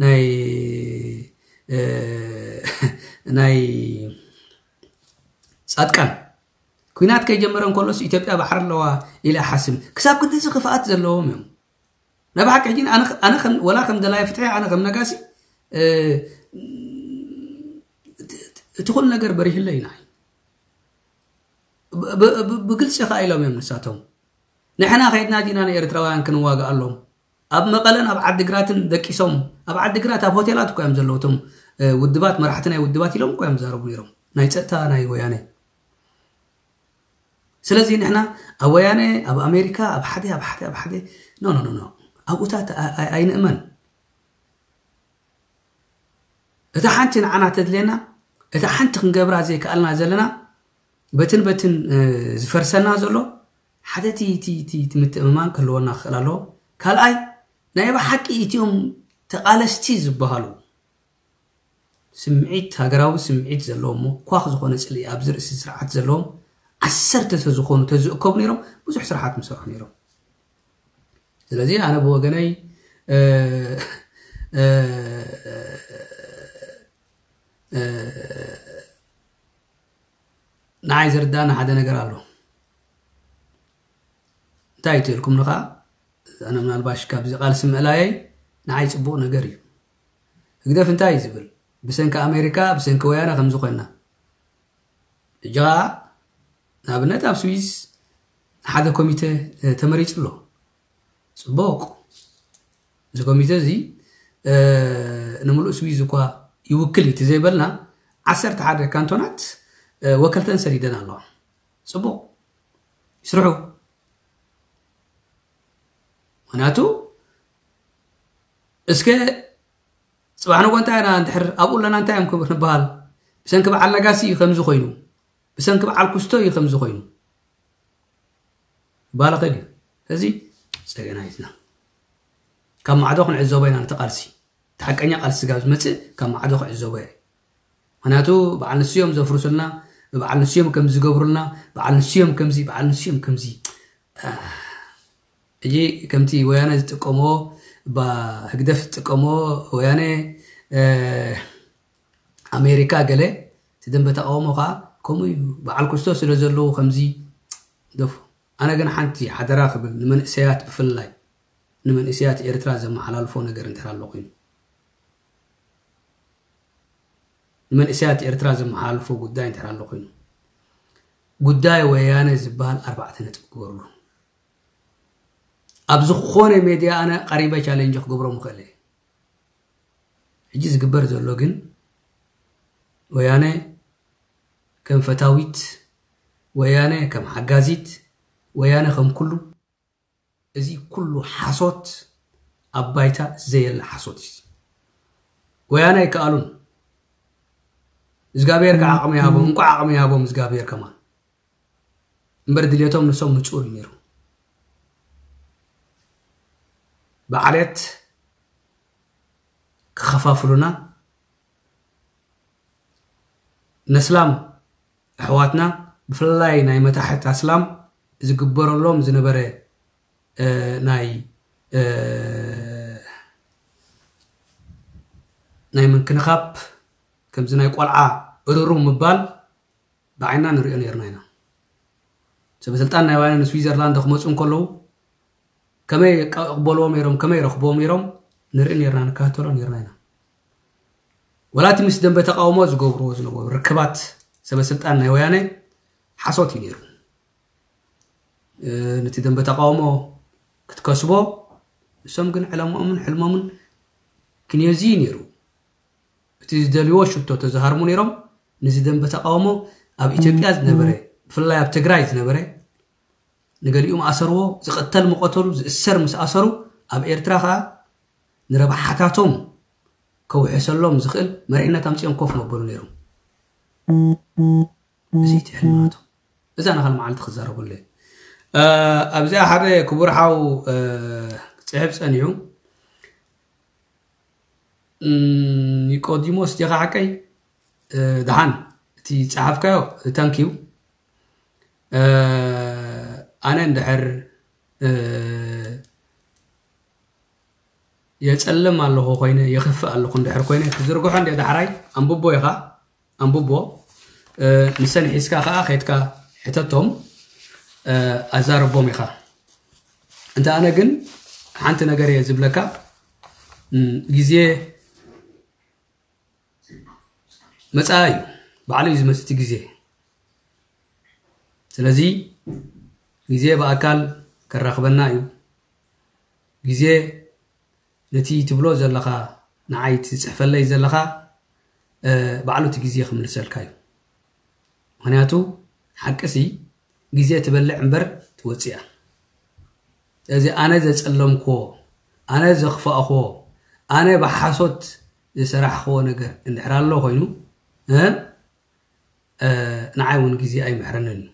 ናይ ናይ ጻድቃን ኩናት ከይጀመረ እንከሎስ ኢትዮጵያ ባሕሪ ኣለዋ ኢለ ሓስብ። ክሳብ ክንድዚ ክፍኣት ዘለዎም እዮም። ናይ ብሓቂ ሕጂ ኣነ ወላ ከም ደላይ ፍትሒ ኣነ ከም ነጋሲ እቲ ኩሉ ነገር በሪህለይ ናይ ብግልፂ ከኣ ኢሎም እዮም ንሳቶም። ንሕና ከይድና ዲና ንኤርትራውያን ክንዋግኣሎም? ኣብ መቐለን ኣብ ዓዲግራትን ደቂሶም፣ ኣብ ዓዲግራት ኣብ ሆቴላት እኮ እዮም ዘለዉ እቶም ውድባት፣ መራሕቲ ናይ ውድባት ኢሎም እኮ እዮም ዛረቡ ነይሮም፣ ናይ ፀጥታ ናይ ወያነ። ስለዚ ንሕና ኣብ ወያነ፣ ኣብ ኣሜሪካ፣ ኣብ ሓደ ኣብ ሓደ ኣብ ሓደ ኖ ኖ ኖ ኣብኡታት ኣይንእመን። እታ ሓንቲ ንዓና ተድልየና፣ እታ ሓንቲ ክንገብራ ዘይከኣልና ዘለና በትን በትን ዝፈርሰና ዘሎ ሓደ እቲ ምትእምማን ክህልወና ክኽእል ኣለዎ። ካልኣይ ናይ ብሓቂ እቲኦም ተቓለስቲ ዝበሃሉ ስምዒት ሃገራዊ ስምዒት ዘለዎም እሞ ኳኽ ዝኾነ ፅልኢ ኣብዚ ርእሲ ስርዓት ዘለዎም ዓሰርተ ተዝኾኑ ተዝእከቡ ነይሮም ብዙሕ ስራሓት ምሰርሑ ነይሮም። ስለዚ ኣነ ብወገነይ ንዓይ ዝርዳእኒ ሓደ ነገር ኣሎ። እንታይ ትልኩም ንኻ ኣነ ምናልባሽ ካብዚ ቃልሲ ምእላየይ ንዓይ ፅቡቕ ነገር እዩ። ህግደፍ እንታይ እዩ ዝብል? ብሰንኪ ኣሜሪካ ብሰንኪ ወያነ ከምዚ ኮይና። እጃ ንኣብነት ኣብ ስዊስ ሓደ ኮሚተ ተመሪፁ ኣሎ። ፅቡቕ። እዚ ኮሚተ እዚ ንምሉእ ስዊዝ እኳ ይውክል እዩ ዘይበልና ዓሰርተ ሓደ ካንቶናት ወከልተን ሰዲደን ኣለዋ። ፅቡቕ ይስርሑ። ምክንያቱ እስከ ፅባሕ ንጎ እንታይ ኢና እንድሕር ኣብኡ ኣለና እንታይ እዮም ክብ- ንበሃል? ብሰንኪ በዓል ነጋሲ እዩ ከምዚ ኮይኑ፣ ብሰንኪ በዓል ኩስቶ እዩ ከምዚ ኮይኑ ባለ ኸድ እዩ። እዚ ፀገና ይትና ካብ ማዕዶ ክንዕዘቦ ኢና ነቲ ቃልሲ፣ እቲ ሓቀኛ ቃልሲ ስጋብ ዝመፅእ ካብ ማዕዶ ክዕዘቦ እየ። ምክንያቱ በዓል ንስዮም ዘፍርሱልና፣ በዓል ንስዮም ከም ዝገብሩልና፣ በዓል ንስዮም ከምዚ በዓል ንስዮም ከምዚ ሕጂ ከምቲ ወያነ ዝጥቀምዎ፣ ህግደፍ ዝጥቀምዎ፣ ወያነ ኣሜሪካ ገለ እቲ ደንበ ተቃውሞ ከዓ ከምኡ እዩ። በዓል ኩስቶ ስለ ዘለዉ ከምዚ ደፉ። ኣነ ግን ሓንቲ ሓደራ ክብል ንመንእሰያት ብፍላይ ንመንእሰያት ኤርትራ ዘመሓላልፎ ነገር እንተር ኣሎ ኮይኑ ንመንእሰያት ኤርትራ ዘመሓላልፎ ጉዳይ እንተር ኣሎ ኮይኑ ጉዳይ ወያነ ዝበሃል ኣርባዕተ ነጥቢ ክገብርሉ ኣብ ዝኾነ ሜድያ ኣነ ቀሪበ ቻሌንጅ ክገብሮ ምኽእል እየ። ሕጂ ዝግበር ዘሎ ግን ወያነ ከም ፈታዊት፣ ወያነ ከም ሓጋዚት፣ ወያነ ከም ኩሉ፣ እዚ ኩሉ ሓሶት ኣብ ባይታ ዘየለ ሓሶት እዩ። ወያነ ኣይከኣሉን። እግዚኣብሔር ከዓ ዓቕሚ ይሃቦም፣ እንኳዕ ዓቕሚ ይሃቦም እግዚኣብሔር ከማን። እምበር ድልየቶም ንሶም ንጹር እዩ ነይሩ። ብዓሌት ክኸፋፍሉና ነስላም ኣሕዋትና ብፍላይ ናይ መታሕት ኣስላም ዝግበረሎም ዝነበረ ናይ ናይ ምንክንኻብ ከምዚ ናይ ቆልዓ እርሩ ምባል ብዓይና ንሪኦ ነርና ኢና። ሰበ ስልጣን ናይ ወያነ ንስዊዘርላንድ ክመፁ እንከለዉ ከመይ ይቀበልዎም ነይሮም፣ ከመይ ረኽብዎም ነይሮም ንርኢ ነርና፣ ንከታተሎ ነርና ኢና። ወላ እቲ ምስ ደንበ ተቃውሞ ዝገብርዎ ዝነበሩ ርክባት ሰበ ስልጣን ናይ ወያነ ሓሶት እዩ ነይሩ። ነቲ ደንበ ተቃውሞ ክትከስቦ ንሶም ግን ዕላማኦምን ሕልሞምን ክንዮዚ እዩ ነይሩ። እቲ ዝደልዎ ሽቶ ተዝሃርሙ ነይሮም። ንዚ ደንበ ተቃውሞ ኣብ ኢትዮጵያ ዝነበረ፣ ብፍላይ ኣብ ትግራይ ዝነበረ፣ ንገሊኡ ምኣሰርዎ፣ ዝቐተል ምቐተሉ፣ ዝእሰር ምስ ኣሰሩ፣ ኣብ ኤርትራ ከዓ ንረብሓታቶም ከውሕሰሎም ዝኽእል መሪሕነት ኣምፂኦም ኮፍ መበሉ ነይሮም። እዚ እቲ ሕልምናቶም። እዛ ንኻል መዓልቲ ክዛረበሉ እየ። ኣብዚኣ ሓደ ክቡር ሓው ክፅሕፍ ፀኒሑ፣ ኒቆዲሞስ ዲኻ ሓቀይ? ደሓን፣ እቲ ጸሓፍካዮ ታንኪዩ። ኣነ እንድሕር የጸልም ኣለኹ ኮይነ፣ የኽፍእ ኣለኹ እንድሕር ኮይነ፣ ክዝርግሖ እንደ ዳሕራይ ኣንብቦ ኢኻ፣ ኣንብቦ። ንሰን ሒዝካ ከኣ ኸይድካ ሕተቶም፣ ኣዛርቦም ኢኻ። እንተ ኣነ ግን ሓንቲ ነገር እየ ዝብለካ፣ ግዜ መጻኢ እዩ፣ ባዕሉ እዩ ዝመጽእ እቲ ግዜ። ስለዚ ግዜ ብኣካል ከራኽበና እዩ። ግዜ ነቲ ትብሎ ዘለኻ፣ ንዓይ ትጽሕፈለይ ዘለኻ፣ ባዕሉ እቲ ግዜ ክምልሰልካ እዩ። ምኽንያቱ ሓቅሲ ግዜ ትበልዕ እምበር ትወጽእ እያ። ስለዚ ኣነ ዘጸለምክዎ፣ ኣነ ዘኽፋእክዎ፣ ኣነ ብሓሶት ዝሰራሕክዎ ነገር እንድሕር ኣሎ ኮይኑ፣ እ፣ እ፣ ንዓይ እውን ግዜ ኣይምሕረንን እዩ።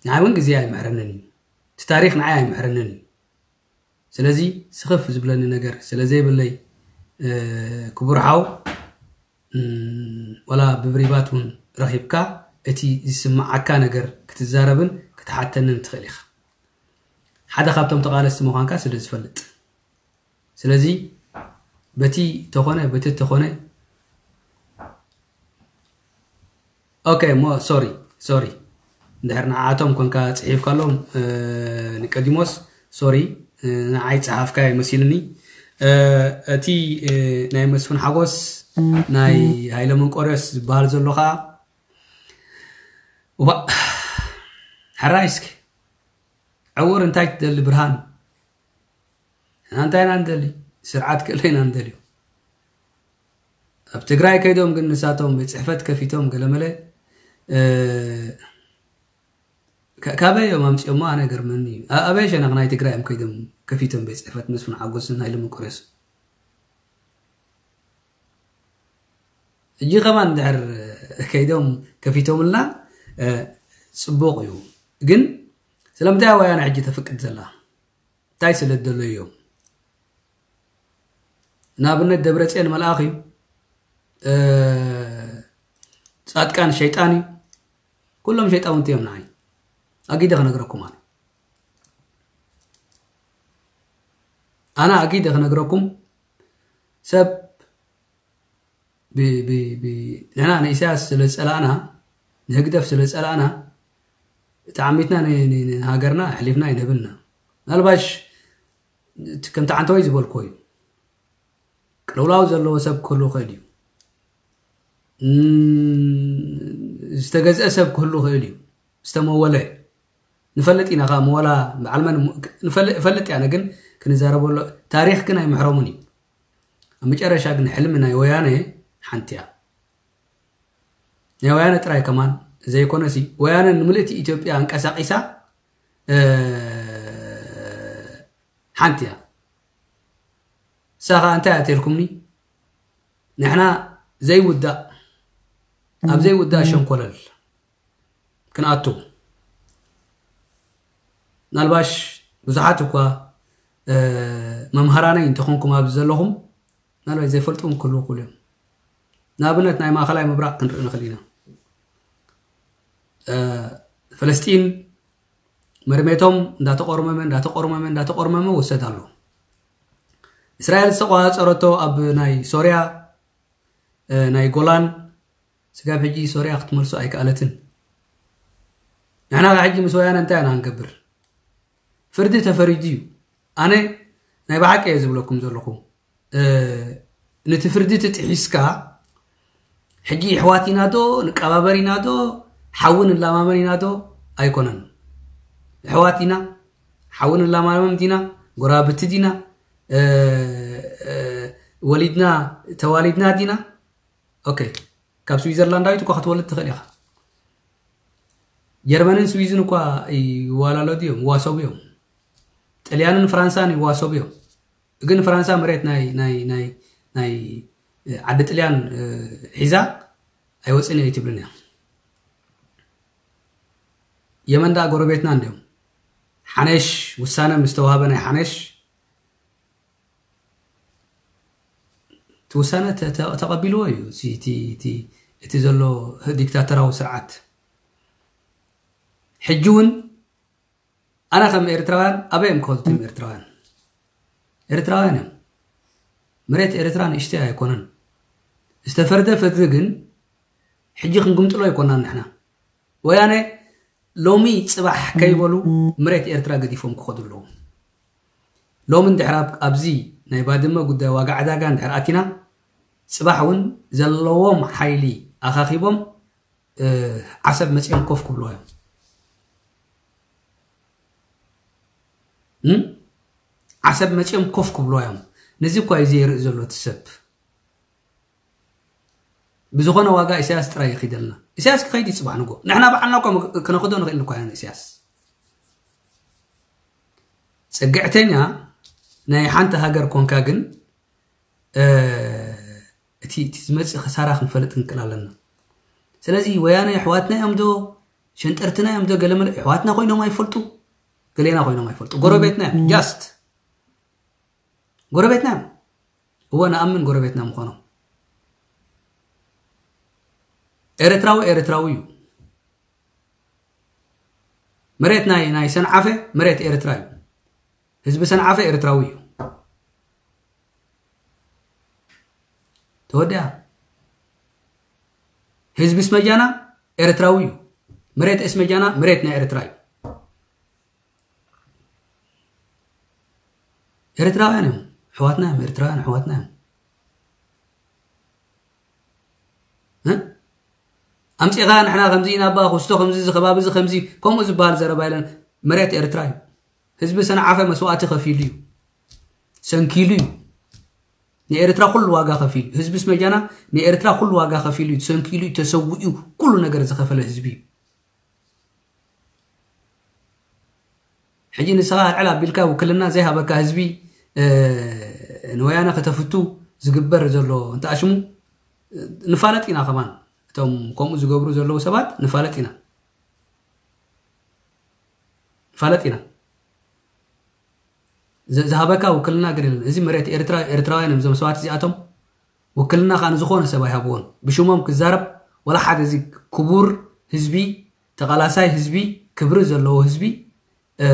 ንዓይ እውን ግዜ ኣይምሕረንን እዩ። እቲ ታሪኽ ንዓይ ኣይምሕረንን እዩ። ስለዚ ስኽፍ ዝብለኒ ነገር ስለ ዘይብለይ፣ እ፣ ክቡር ሓው፣ እም፣ ወላ ብብሪባት እውን ረኺብካ እቲ ዝስምዓካ ነገር ክትዛረብን ክትሓተንን ትኽእል ኢኻ። ሓደ ካብቶም ተቓለስቲ ምዃንካ ስለ ዝፈልጥ። ስለዚ በቲ ተኾነ፣ በቲ ተኾነ፣ ኦኬ፣ እሞ ሶሪ፣ ሶሪ። እንድሕር ንዓኣቶም ኮንካ ጽሒፍካሎም፣ እ፣ ኒቆዲሞስ፣ ሶሪ፣ እ፣ ንዓይ ጸሓፍካዮ መሲልኒ። እ፣ እቲ፣ እ፣ ናይ መስፍን ሓጎስ፣ ናይ ሃይለ መንቆርዮስ ዝበሃል ዘሎ ኸኣ፣ ዋእ፣ ሕራይ እስኪ። ዕውር እንታይ ትደሊ ብርሃን? ንሕና እንታይ ኢና ንደሊ? ስርዓት ክእለ ኢና ንደልዮ። ኣብ ትግራይ ከይዶም ግን ንሳቶም ቤት ጽሕፈት ከፊቶም ገለመለ፣ እ፣ ካ-፣ ካበይ እዮም ኣምጺኦሞ? ኣነ ገርመኒ እዩ። ኣ-፣ ኣበይ ሸነኽ ናይ ትግራይ እዮም ከይዶም ከፊቶም ቤት ጽሕፈት መስፍን ሓጎስን ሃይለ መንቆርዮስን? ሕጂ ከማን እንድሕር ከይዶም ከፊቶምልና፣ እ፣ ጽቡቕ እዩ። ግን ስለምንታይ ወያነ ሕጂ ተፍቅድ ዘላ? እንታይ ስለ ዝደለዩ እዮም? ንኣብነት ደብረጽዮን መልኣኽ እዩ፣ እ፣ ጻድቃን ሸይጣን እዩ። ኩሎም ሸይጣውንቲ እዮም ንዓይ። ኣጊደ ክነግረኩም ኣነ። ኣነ ኣጊደ ክነግረኩም ሰብ ብ-፣ ብ-፣ ብ-፣ ንሕና ንኢሳያስ ስለ ዝጸላእና፣ ንህግደፍ ስለ ዝጸላእና፣ ተዓሚትና ን-፣ ን-፣ ንሃገርና ኣሕሊፍና ኣይንህብና። ምናልባሽ እቲ ከምቲ ዓንተወይ ዝበልክዎ እዩ። ቅልውላው ዘለዎ ሰብ ክህሉ ይኽእል እዩ። እም፣ ዝተገዝአ ሰብ ክህሉ ይኽእል እዩ። ዝተመወለ። ንፈልጥ ኢና፣ ካብ መወላ በዓል መን ንፈልጥ፣ ንፈልጥ ኢና፣ ግን ክንዛረበሉ፣ ታሪኽ ግን ኣይምሕረሙን እዩ። ኣብ መጨረሻ ግን ሕልሚ ናይ ወያነ ሓንቲ እያ። ናይ ወያነ ጥራይ ከማን ዘይኮነሲ፣ ወያነ ንምልእቲ ኢትዮጵያ ኣንቀሳቒሳ፣ እ፣ ሓንቲ እያ። ንሳ ኸኣ እንታይ እያ ተልኩምኒ? ንሕና ዘይውዳእ፣ ኣብ ዘይውዳእ ሸንኮለል ክንኣቱ። ምናልባሽ ብዙሓት እኳ፣ እ፣ መምሃራነይ እንተኾንኩም ኣብዚ ዘለኹም፣ ምናልባሽ ዘይፈልጡ እውን ክህልዉ ይኽእሉ እዮም። ንኣብነት ናይ ማእኸላይ ምብራቕ ክንርኢ ንኽእል ኢና። እ፣ ፈለስጢን መርሜቶም እንዳተቆርመመ እንዳተቆርመመ እንዳተቆርመመ ወሰድ ኣሎ። እስራኤል ዝተቆጻጸረቶ ኣብ ናይ ሶርያ፣ እ፣ ናይ ጎላን፣ ስጋብ ሕጂ ሶርያ ክትመልሶ ኣይከኣለትን። ንሕና ካብ ሕጂ ምስ ወያነ እንታይ ኢና ንገብር? ፍርዲ ተፈሪዱ እዩ። ኣነ ናይ ብሓቂ እየ ዝብለኩም ዘለኹ። እ፣ ነቲ ፍርዲ ትጥሒስካ፣ ሕጂ ኣሕዋት ኢና ዶ፣ ንቀባበር ኢና ዶ፣ ሓዊ ንላማመን ኢና ዶ? ኣይኮነን። ኣሕዋት ኢና፣ ሓዊ ንላማመን ዲና፣ ጎራብቲ ዲና፣ እ፣ እ፣ ወሊድና፣ ተዋሊድና ዲና? ኦኬ፣ ካብ ስዊዘርላንዳዊት እኳ ክትወልድ ትኽእል ኢኻ። ጀርመንን ስዊዝን እኳ ይዋላለዱ እዮም፣ ይዋሰቡ እዮም። ጥልያንን ፍራንሳን ይዋሰቡ እዮም። ግን ፍራንሳ መሬት ናይ፣ ናይ፣ ናይ፣ ናይ፣ እ፣ ዓዲ ጥልያን፣ እ፣ ሒዛ ኣይወፅን እየ ኣይትብልን እያ። የመን ደኣ ጎረቤትና እንዲዮም። ሓነሽ ውሳነ ምስ ተዋህበ ናይ ሓነሽ እቲ ውሳነ ተ-፣ ተ-፣ ተቐቢልዎ እዩ። እቲ፣ እቲ፣ እቲ፣ እቲ ዘሎ ዲክታተራዊ ስርዓት። ሕጂ እውን ኣነ ከም ኤርትራውያን ኣበይ እዮም ክኸዱ እቶም ኤርትራውያን? ኤርትራውያን እዮም። መሬት ኤርትራ ንእሽተይ ኣይኮነን። ዝተፈርደ ፍርዲ ግን ሕጂ ክንግምጥሎ ኣይኮናን ንሕና። ወያነ ሎሚ ጽባሕ ከይበሉ መሬት ኤርትራ ገዲፎም ክኸዱ ኣለዎም። ሎሚ እንድሕር ኣብ-፣ ኣብዚ ናይ ባድመ ጉዳይ ዋጋ ዕዳጋ እንድሕር ኣቲና፣ ጽባሕ እውን ዘለዎም ሓይሊ ኣኻኺቦም፣ እ፣ ዓሰብ መጺኦም ኮፍ ክብልዋ እዮም። እም? ዓሰብ መጺኦም ኮፍ ክብልዋ እዮም። ነዚ እኳ እዩ ዘየርኢ ዘሎ እቲ ሰብ። ብዝኾነ ዋጋ ኢሳያስ ጥራይ ይኺደልና። ኢሳያስ ክኸይድ እዩ ጽባሕ ንጎ። ንሕና ባዕልና እኳ ክነኽዶ ንኽእል እኳ ኢና ንኢሳያስ። ጽግዕተኛ ናይ ሓንቲ ሃገር ኮንካ ግን፣ እ፣ እቲ፣ እቲ ዝመጽእ ክሳራ ክንፈልጥ ክንክእል ኣለና። ስለዚ ወያነ ኣሕዋትና እዮም ዶ፣ ሸንጠርትና እዮም ዶ፣ ገለመለ ኣሕዋትና ኮይኖም ኣይፈልጡ፣ ገሌና ኮይኖም ኣይፈልጡ። ጎረቤትና እዮም፣ ጃስት ጎረቤትና እዮም። እወ፣ ንኣምን ጎረቤትና ምዃኖም። ኤርትራዊ ኤርትራዊ እዩ። መሬት ናይ፣ ናይ ሰንዓፈ መሬት ኤርትራ እዩ። ህዝቢ ሰንዓፈ ኤርትራዊ እዩ። ተወዲኣ። ህዝቢ ስመጃና ኤርትራዊ እዩ። መሬት እስመጃና መሬት ናይ ኤርትራ እዩ። ኤርትራውያን እዮም። ኣሕዋትና እዮም። ኤርትራውያን ኣሕዋትና እዮም። እ? ኣምጺኻ ንሕና ከምዚ ኢና፣ ኣባ ኩስቶ ከምዚ፣ እዚ ከባቢ እዚ ከምዚ፣ ከምኡ ዝበሃል ዘረባ የለን። መሬት ኤርትራ እዩ። ህዝቢ ሰንዓፈ መስዋእቲ ከፊሉ እዩ። ሰንኪሉ እዩ። ንኤርትራ ኩሉ ዋጋ ከፊሉ እዩ። ህዝቢ ስመጃና ንኤርትራ ኩሉ ዋጋ ከፊሉ እዩ። ሰንኪሉ እዩ፣ ተሰዊኡ ኩሉ ነገር ዝኸፈለ ህዝቢ እዩ። ሕጂ ንስኻ ኣልዕል ኣቢልካ ውክልና ዘይሃበካ ህዝቢ፣ እ፣ ንወያነ ከተፍቱ ዝግበር ዘሎ እንተኣሽሙ፣ እ፣ ንፋለጥ ኢና ከማን። እቶም ከምኡ ዝገብሩ ዘለዉ ሰባት ንፋለጥ ኢና። ንፋለጥ ኢና። ዝ-፣ ዝሃበካ ውክልና ግን የለን። እዚ መሬት ኤርትራ፣ ኤርትራውያን እዮም እዞም ሰባት እዚኣቶም። ውክልና ከኣ ንዝኾነ ሰብ ኣይሃብዎን። ብሽሞም ክዛረብ ወላ ሓደ፣ እዚ ክቡር ህዝቢ፣ ተቓላሳይ ህዝቢ፣ ክብሪ ዘለዎ ህዝቢ፣ እ፣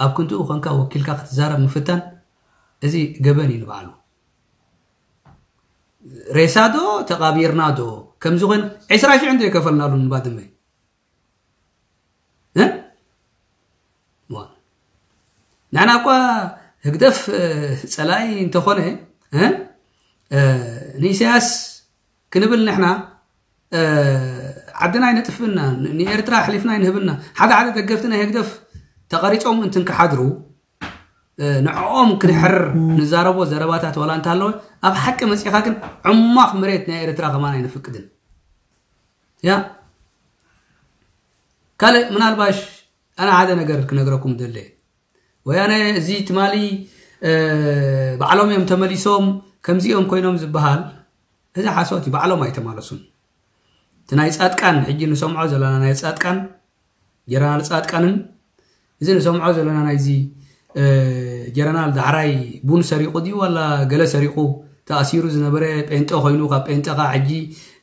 ኣብ ክንድኡ ኮንካ ወኪልካ ክትዛረብ ምፍታን፣ እዚ ገበን እዩ ንባዕሉ። ሬሳ ዶ ተቓቢርና ዶ ከምዚ ኮይና፣ ዕስራ ሽሕ እንዶ የከፈልናሉ ንባድመ። እ? ዋ። ንሕና እኳ ህግደፍ፣ እ፣ ጸላኢ እንተኾነ፣ እ፣ እ፣ ንኢሳያስ ክንብል ንሕና፣ እ፣ ዓድና ኣይነጥፍእና፣ ን-፣ ንኤርትራ ኣሕሊፍና ኣይንህብና። ሓደ ሓደ ደገፍቲ ናይ ህግደፍ ተቐሪጾም እንትንክሓድሩ፣ እ፣ ንዕኦም ክንሕር ንዛረቦ ዘረባታት ዋላ እንተሃለወ፣ ኣብ ሓቂ መጺኻ ግን ዕማኽ መሬት ናይ ኤርትራ ከማን ኣይነፍቅድን። ያ፣ ካልእ ምናልባሽ ኣነ ሓደ ነገር ክነግረኩም ደለ። ወያነ እዚ ትማሊ፣ እ፣ ባዕሎም እዮም ተመሊሶም፣ ከምዚ እዮም ኮይኖም ዝበሃል፣ እዚ ሓሶት እዩ። ባዕሎም ኣይተማለሱን። እቲ ናይ ጻድቃን፣ ሕጂ ንሰምዖ ዘለና ናይ ጻድቃን፣ ጀነራል ጻድቃንን እዚ ንሰምዖ ዘለና ናይዚ፣ እ፣ ጀነራል ዳሕራይ ቡን ሰሪቑ ድዩ ዋላ ገለ ሰሪቑ ተኣሲሩ ዝነበረ ጴንጠ ኮይኑ፣ ካብ ጴንጠ ኸዓ ሕጂ፣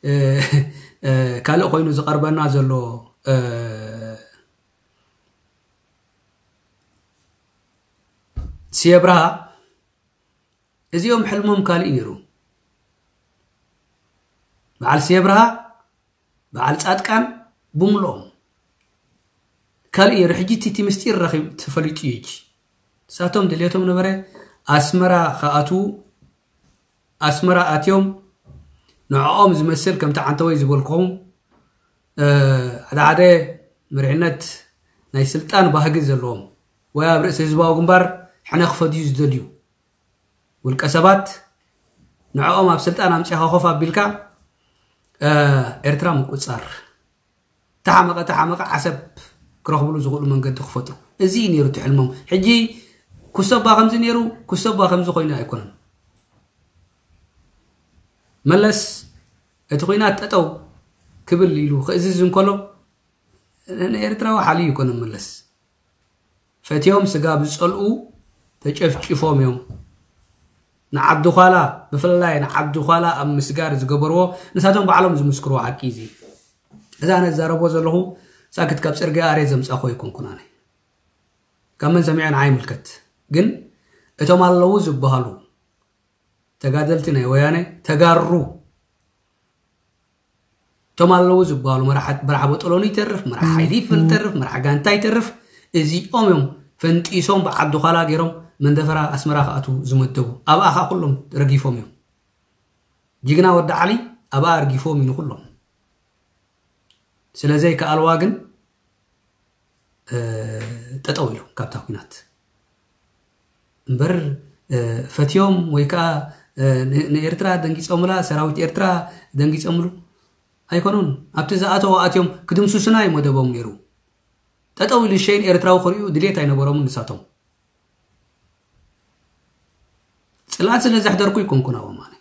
እ፣ እ፣ ካልእ ኮይኑ ዝቐርበና ዘሎ፣ እ፣ ስየ ብርሃ እዚኦም ሕልሞም ካልእ ነይሩ። በዓል ስየ ብርሃ፣ በዓል ጻድቃን ብምልኦም ካልእ ነይሩ። ሕጂ እቲ ምስጢር ረኺብ ተፈሊጡ እዩ። ሕጂ ንሳቶም ድልየቶም ነበረ ኣስመራ ክኣትዉ። ኣስመራ ኣትዮም ንዕኦም ዝመስል ከምቲ ዓንተወይ ዝበልኩም ሓደ ሓደ መሪሕነት ናይ ስልጣን ባህጊ ዘለዎም ወይ ኣብ ርእሲ ህዝባዊ ግንባር ሕነ ክፈድዩ ዝደልዩ ውልቀ ሰባት ንዕኦም ኣብ ስልጣን ኣምጺኻ ኮፍ ኣቢልካ ኤርትራ ምቁጻር። ተሓመቐ ተሓመቐ ዓሰብ ክረኽብሉ ዝኽእሉ መንገዲ ክፈጥሩ፣ እዚ እዩ ነይሩ እቲ ሕልሞም። ሕጂ ኩሰባ ከምዚ ነይሩ፣ ኩሰባ ከምዚ ኮይኑ ኣይኮነን። መለስ እቲ ኹናት ጠጠው ክብል ኢሉ ክእዝዝ እንከሎ ንኤርትራዊ ሓልዩ ይኮነን። መለስ ፈትዮም ስጋብ ዝጸልኡ ተጨፍጭፎም እዮም። ንዓዲ ዃላ፣ ብፍላይ ንዓዲ ዃላ ኣብ ምስጋር ዝገበርዎ ንሳቶም ባዕሎም ዝምስክርዎ ሓቂ እዩ። እዚ ኣነ ዝዛረቦ ዘለኹ ሳክት ካብ ጽርግያ ኣርየ ዘምጻኹ ኣይኮንኩን። ኣነ ካብ መን ሰሚዐ ንዓይ ይምልከት። ግን እቶም ኣለዉ ዝበሃሉ ተጋደልቲ ናይ ወያነ ተጋሩ እቶም ኣለዉ ዝበሃሉ መራሓ በጦሎኒ ይተርፍ፣ መራሓ ሓይሊ ይተርፍ፣ መራሓ ጋንታ ይተርፍ፣ እዚኦም እዮም ፈንጢሶም ብዓዲ ዃላ ገይሮም መንደፈራ ኣስመራ ክኣትዉ ዝመደቡ። ኣብኣ ከዓ ኩሎም ረጊፎም እዮም። ጅግና ወዲ ዓሊ ኣብኣ ኣርጊፎም እዩ ንኩሎም። ስለዘይከኣልዋ ግን ጠጠው ኢሎም ካብታ ኲናት እምበር ፈትዮም ወይ ከዓ ንኤርትራ ደንጊፆምላ፣ ሰራዊት ኤርትራ ደንጊፆምሉ ኣይኮኑን። ኣብቲ ዝኣተው ኣትዮም ክድምስሱና እዩ መደቦም ነይሩ። ጠጠው ኢሉ ሸይን ኤርትራዊ ክርእዩ ድሌት ኣይነበሮምን ንሳቶም። ፅልኣት ስለ ዘሕደርኩ ይኮንኩን ኣብኦም ኣነ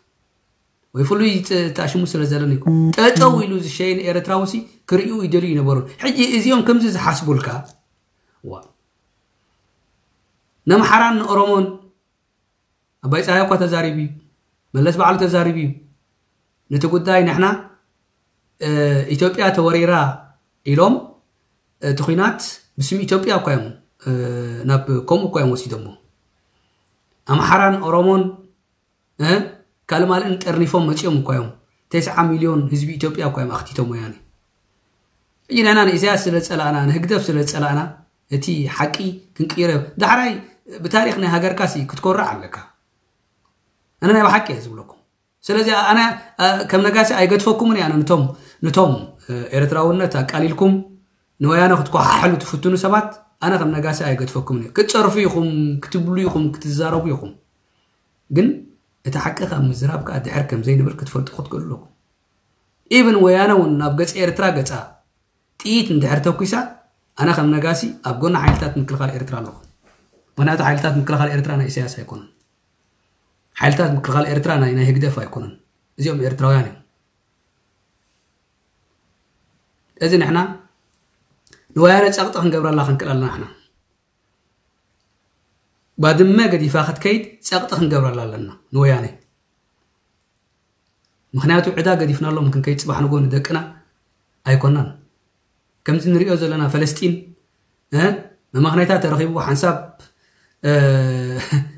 ወይ ፍሉይ ተኣሽሙ ስለ ዘለኒ ይኮን። ጠጠው ኢሉ ዝሸይን ኤርትራዊ ሲ ክርእዩ ይደልዩ ይነበሩን። ሕጂ እዚኦም ከምዚ ዝሓስቡልካ ዋ ነምሓራን ንኦሮሞን ኣባይ ፀሃይ እኳ ተዛሪቡ እዩ። መለስ ባዕሉ ተዛሪቡ እዩ። ነቲ ጉዳይ ንሕና ኢትዮጵያ ተወሪራ ኢሎም እቲ ኹናት ብስም ኢትዮጵያ እኳ እዮም ናብ ከምኡ እኳ እዮም ወሲዶሞ። ኣምሓራን ኦሮሞን ካልማልእን ጠርኒፎም መፂኦም እኳ እዮም። ተስዓ ሚልዮን ህዝቢ ኢትዮጵያ እኳ እዮም ኣኽቲቶም ወያኔ። ሕጂ ንሕና ንኢሳያስ ስለ ዝፀላእና ንህግደፍ ስለ ዝፀላእና እቲ ሓቂ ክንቅይሮ ዳሕራይ ብታሪክ ናይ ሃገርካ ሲ ክትኮርዕ ኣለካ። ኣነ ናይ ብሓቂ እየ ዝብለኩም። ስለዚ ኣነ ከም ነጋሲ ኣይገድፈኩምን እየ። ኣነ ንቶም ንቶም ኤርትራውነት ኣቃሊልኩም ንወያነ ክትኮሓሕሉ ትፍትኑ ሰባት ኣነ ከም ነጋሲ ኣይገድፈኩምን እየ። ክትፀርፉ ኢኹም፣ ክትብሉ ኢኹም፣ ክትዛረቡ ኢኹም። ግን እቲ ሓቂ ካብ ምዝራብ ከዓ ድሕር ከም ዘይንብል ክትፈልጡ ክትክእሉ ኣለኩም። ኢብን ወያነ እውን ናብ ገፂ ኤርትራ ገፃ ጥይት እንድሕር ተኩሳ ኣነ ከም ነጋሲ ኣብ ጎኒ ሓይልታት ምክልኻል ኤርትራ ኣለኹ። ምክንያቱ ሓይልታት ምክልኻል ኤርትራ ናይ ኢሳያስ ኣይኮኑን። ሓይልታት ምክልኻል ኤርትራ ናይ ናይ ህግደፍ ኣይኮኑን። እዚኦም ኤርትራውያን እዮም። እዚ ንሕና ንወያነ ጸቕጢ ክንገብረላ ክንክእል ኣለና። ንሕና ባድመ ገዲፋ ክትከይድ ጸቕጢ ክንገብረላ ኣለና ንወያነ። ምክንያቱ ዕዳ ገዲፍናሎም ክንከይድ ጽባሕ ንጎ ንደቅና ኣይኮናን። ከምዚ ንሪኦ ዘለና ፈለስጢን መማኽነታ ተረኺቡ ሓንሳብ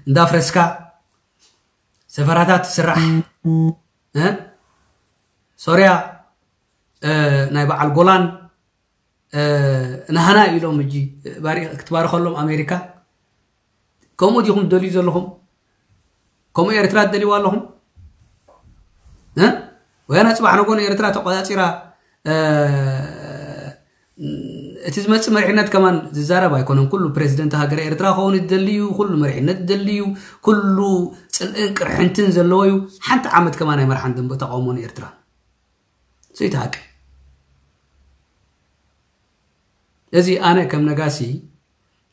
እንዳፍረስካ ሰፈራታት ስራሕ ሶርያ ናይ በዓል ጎላን ናህና ኢሎም እጂ ክትባርኸሎም ኣሜሪካ። ከምኡ ዲኹም ትደልዩ ዘለኹም? ከምኡ ኤርትራ ትደልይዋ ኣለኹም? ወያነ ጽባሕ ነጎ ንኤርትራ ተቆጻጺራ እቲ ዝመጽእ መሪሕነት ከማን ዝዛረብ ኣይኮነን። ኩሉ ፕሬዚደንት ሃገረ ኤርትራ ክኸውን ዝደሊ እዩ። ኩሉ መሪሕነት ዝደሊ እዩ። ኩሉ ጽልእን ቅርሕንትን ዘለዎ እዩ። ሓንቲ ዓመት ከማን ኣይመርሓን ደንበ ተቃውሞ ንኤርትራ። ስይት ሓቂ። እዚ ኣነ ከም ነጋሲ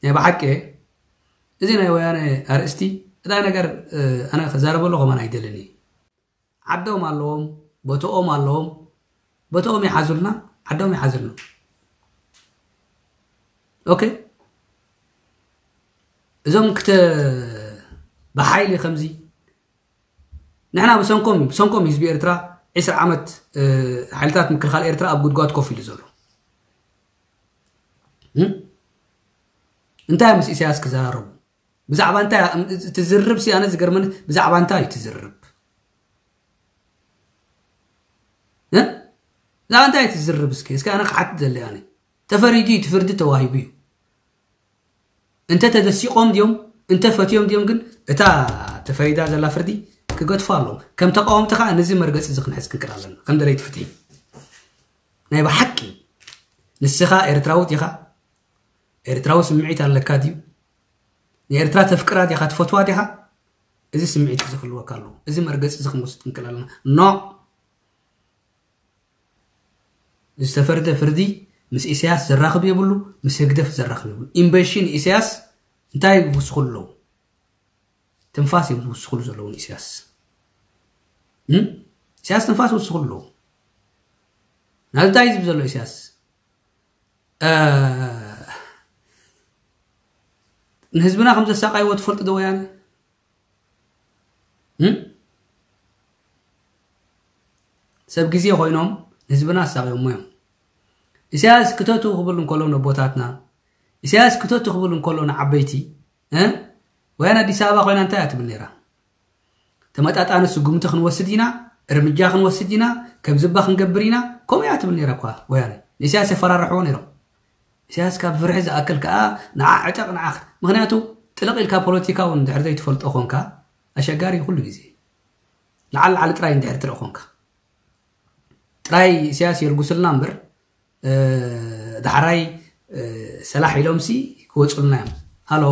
ናይ ብሓቂ እዚ ናይ ወያነ ኣርእስቲ እታ ነገር ኣነ ክዛረበሉ ከማን ኣይደልን እዩ። ዓዶም ኣለዎም፣ ቦቶኦም ኣለዎም፣ ቦቶኦም ይሓዙልና፣ ዓዶም ይሓዙልና። ኦኬ እዞም ክተ ብሓይሊ ከምዚ ንሕና ብሰንኮም እዩ ብሰንኮም ህዝቢ ኤርትራ ዒስራ ዓመት ሓይልታት ምክልኻል ኤርትራ ኣብ ጉድጓድ ኮፍ ኢሉ ዘሎ እንታይ ምስ ኢሳያስ ክዘራረቡ ብዛዕባ እንታይ ትዝርብ ሲ ኣነ ዝገርመኒ ብዛዕባ እንታይ እዩ ትዝርብ? ብዛዕባ እንታይ ትዝርብ እስኪ እስኪ ኣነ ክሓት ዘለ ኣነ ተፈሪዱ እዩ ትፍርዲ ተዋሂቡ እዩ። እንተ ተደሲቆም ድዮም እንተ ፈትዮም ድዮም ግን እታ ተፈሪዳ ዘላ ፍርዲ ክገድፎ ኣለዎም። ከም ተቃወምቲ ከዓ ነዚ መርገፂ እዚ ክንሕዝ ክንክእል ኣለና ከም ደለይቲ ፍትሒ። ናይ ብሓቂ ንስኻ ኤርትራዊት ኢኻ? ኤርትራዊ ስምዒት ኣለካ ድዩ? ንኤርትራ ተፍቅራ ዲኻ ትፈትዋ ዲኻ? እዚ ስምዒት እዚ ክህልወካ ኣለዎ። እዚ መርገፂ እዚ ክንወስድ ክንክእል ኣለና። ኖ ዝተፈርደ ፍርዲ ምስ ኢሳያስ ዘራኽብ የብሉ፣ ምስ ህግደፍ ዘራኽብ የብሉ። ኢምበሺ ንኢሳያስ እንታይ ይውስኹሉ ኣለዉ? ትንፋስ እዮም ዝውስኹሉ ዘለዉ ንኢሳያስ። እም? ኢሳያስ ትንፋስ ይውስኹሉ ኣለዉ። ናዚ እንታይ ዝብ ዘሎ ኢሳያስ? ንህዝብና ከም ዘሳቃይዎ ትፈልጡ ዶ ወያነ? እም? ሰብ ግዜ ኮይኖም ንህዝብና ኣሳቂዮሞ እዮም። ኢሳያስ ክተቱ ክብል እንከሎ ነቦታትና፣ ኢሳያስ ክተቱ ክብል እንከሎ ንዓበይቲ፣ እ? ወያነ ኣዲስ ኣበባ ኮይና እንታይ እያ ትብል ነይራ? ተመጣጣኒ ስጉምቲ ክንወስድ ኢና፣ እርምጃ ክንወስድ ኢና፣ ከምዚ እባ ክንገብር ኢና፣ ከምኡ እያ ትብል ነይራ እኳ ወያነ። ንኢሳያስ የፈራርሕዎ ነይሮም። ኢሳያስ ካብ ፍርሒ ዝኣክል ከኣ ንዓ ዕጠቕ ንዓ ክት-፣ ምኽንያቱ ጥልቕ ኢልካ ፖለቲካ እውን እንድሕር ዘይትፈልጦ ኾንካ ኣሸጋሪ እዩ ኩሉ ግዜ። ንዓል ንዓል ጥራይ እንድሕር ትርኢ ኾንካ። ጥራይ ኢሳያስ የልጉስልና እምበር፣ እ፣ ዳሕራይ፣ እ፣ ሰላሕ ኢሎምሲ ክወጹልና እዮም። ሃሎ፣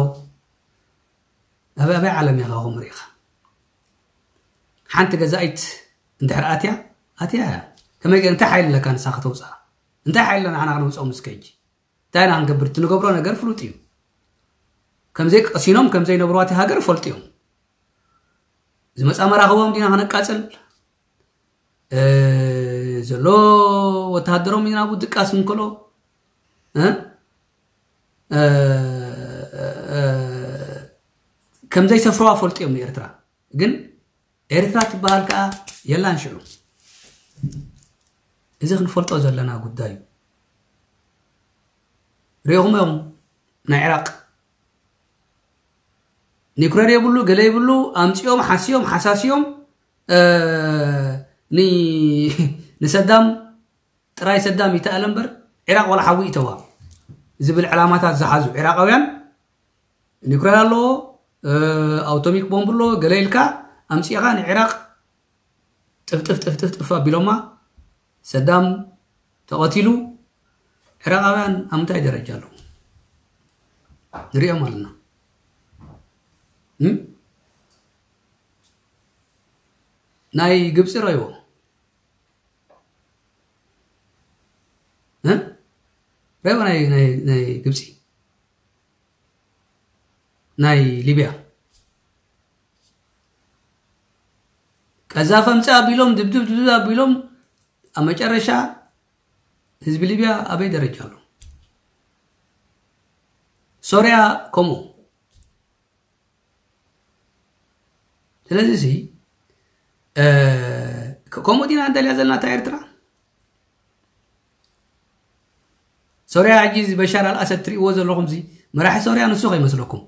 ኣበይ ኣበይ ዓለም ኢኻ ከምኡ ርኢኻ? ሓንቲ ገዛኢት እንድሕር ኣትያ፣ ኣትያ እያ። ከመይ ገ-፣ እንታይ ሓይሊ ኣለካ ንሳ ከተውጽኣ? እንታይ ሓይሊ ኣለና ንሕና ክነውጽኦም እስከ ሕጂ? እንታይ ኢና ክንገብር? እቲ ንገብሮ ነገር ፍሉጥ እዩ። ከምዘይ ቀሲኖም፣ ከምዘይ ነብርዋ እቲ ሃገር ይፈልጡ እዮም። ዝመጻ መራኽቦም ዲና ከነቃጽል? እ፣ ዘሎ ወተሃደሮም ኢና ናብኡ ድቃስ እንከሎ፣ እ? እ፣ እ፣ ከምዘይሰፍርዋ ፈልጡ እዮም ንኤርትራ። ግን ኤርትራ ትበሃል ከኣ የላን ሽዑ። እዚ ክንፈልጦ ዘለና ጉዳይ እዩ። ሪኢኹም እዮም ናይ ዒራቅ ኒኩለር የብሉ፣ ገለ የብሉ፣ ኣምጺኦም፣ ሓስዮም፣ ሓሳስዮም፣ እ፣ ኒ-፣ ንሰዳም ጥራይ ሰዳም ይተኣለ እምበር፣ ዒራቅ ዋላ ሓዊ ይእተዋ ዝብል ዕላማታት ዝሓዙ ዒራቃውያን፣ ኒኩለር ኣለዎ፣ እ፣ ኣውቶሚክ ቦምብ ኣለዎ፣ ገለ ኢልካ ኣምጺእኻ ንዒራቅ ጥፍጥፍ ጥፍጥፍ ጥፍ ኣቢሎማ፣ ሰዳም ተቐቲሉ፣ ዒራቃውያን ኣብ ምንታይ ደረጃ ኣለዉ? ንሪኦም ኣለና። እም? ናይ ግብፂ ረይዎ። እ? ረይዎ ናይ፣ ናይ፣ ናይ ግብፂ። ናይ ሊብያ። ቀዛፊ ኣምፅእ ኣቢሎም፣ ድብድብ፣ ድብድብ ኣቢሎም፣ ኣብ መጨረሻ ህዝቢ ሊብያ ኣበይ ደረጃ ኣሎ? ሶርያ ከምኡ። ስለዚ እዚ፣ እ፣ ከ-፣ ከምኡ ዲና እንደልያ ዘለና እታ ኤርትራ? ሶርያ ሕጂ እዚ በሻር ኣልኣሰድ ትርእይዎ ዘለኹም እዚ መራሒ ሶርያ ንሱ ከይመስለኩም።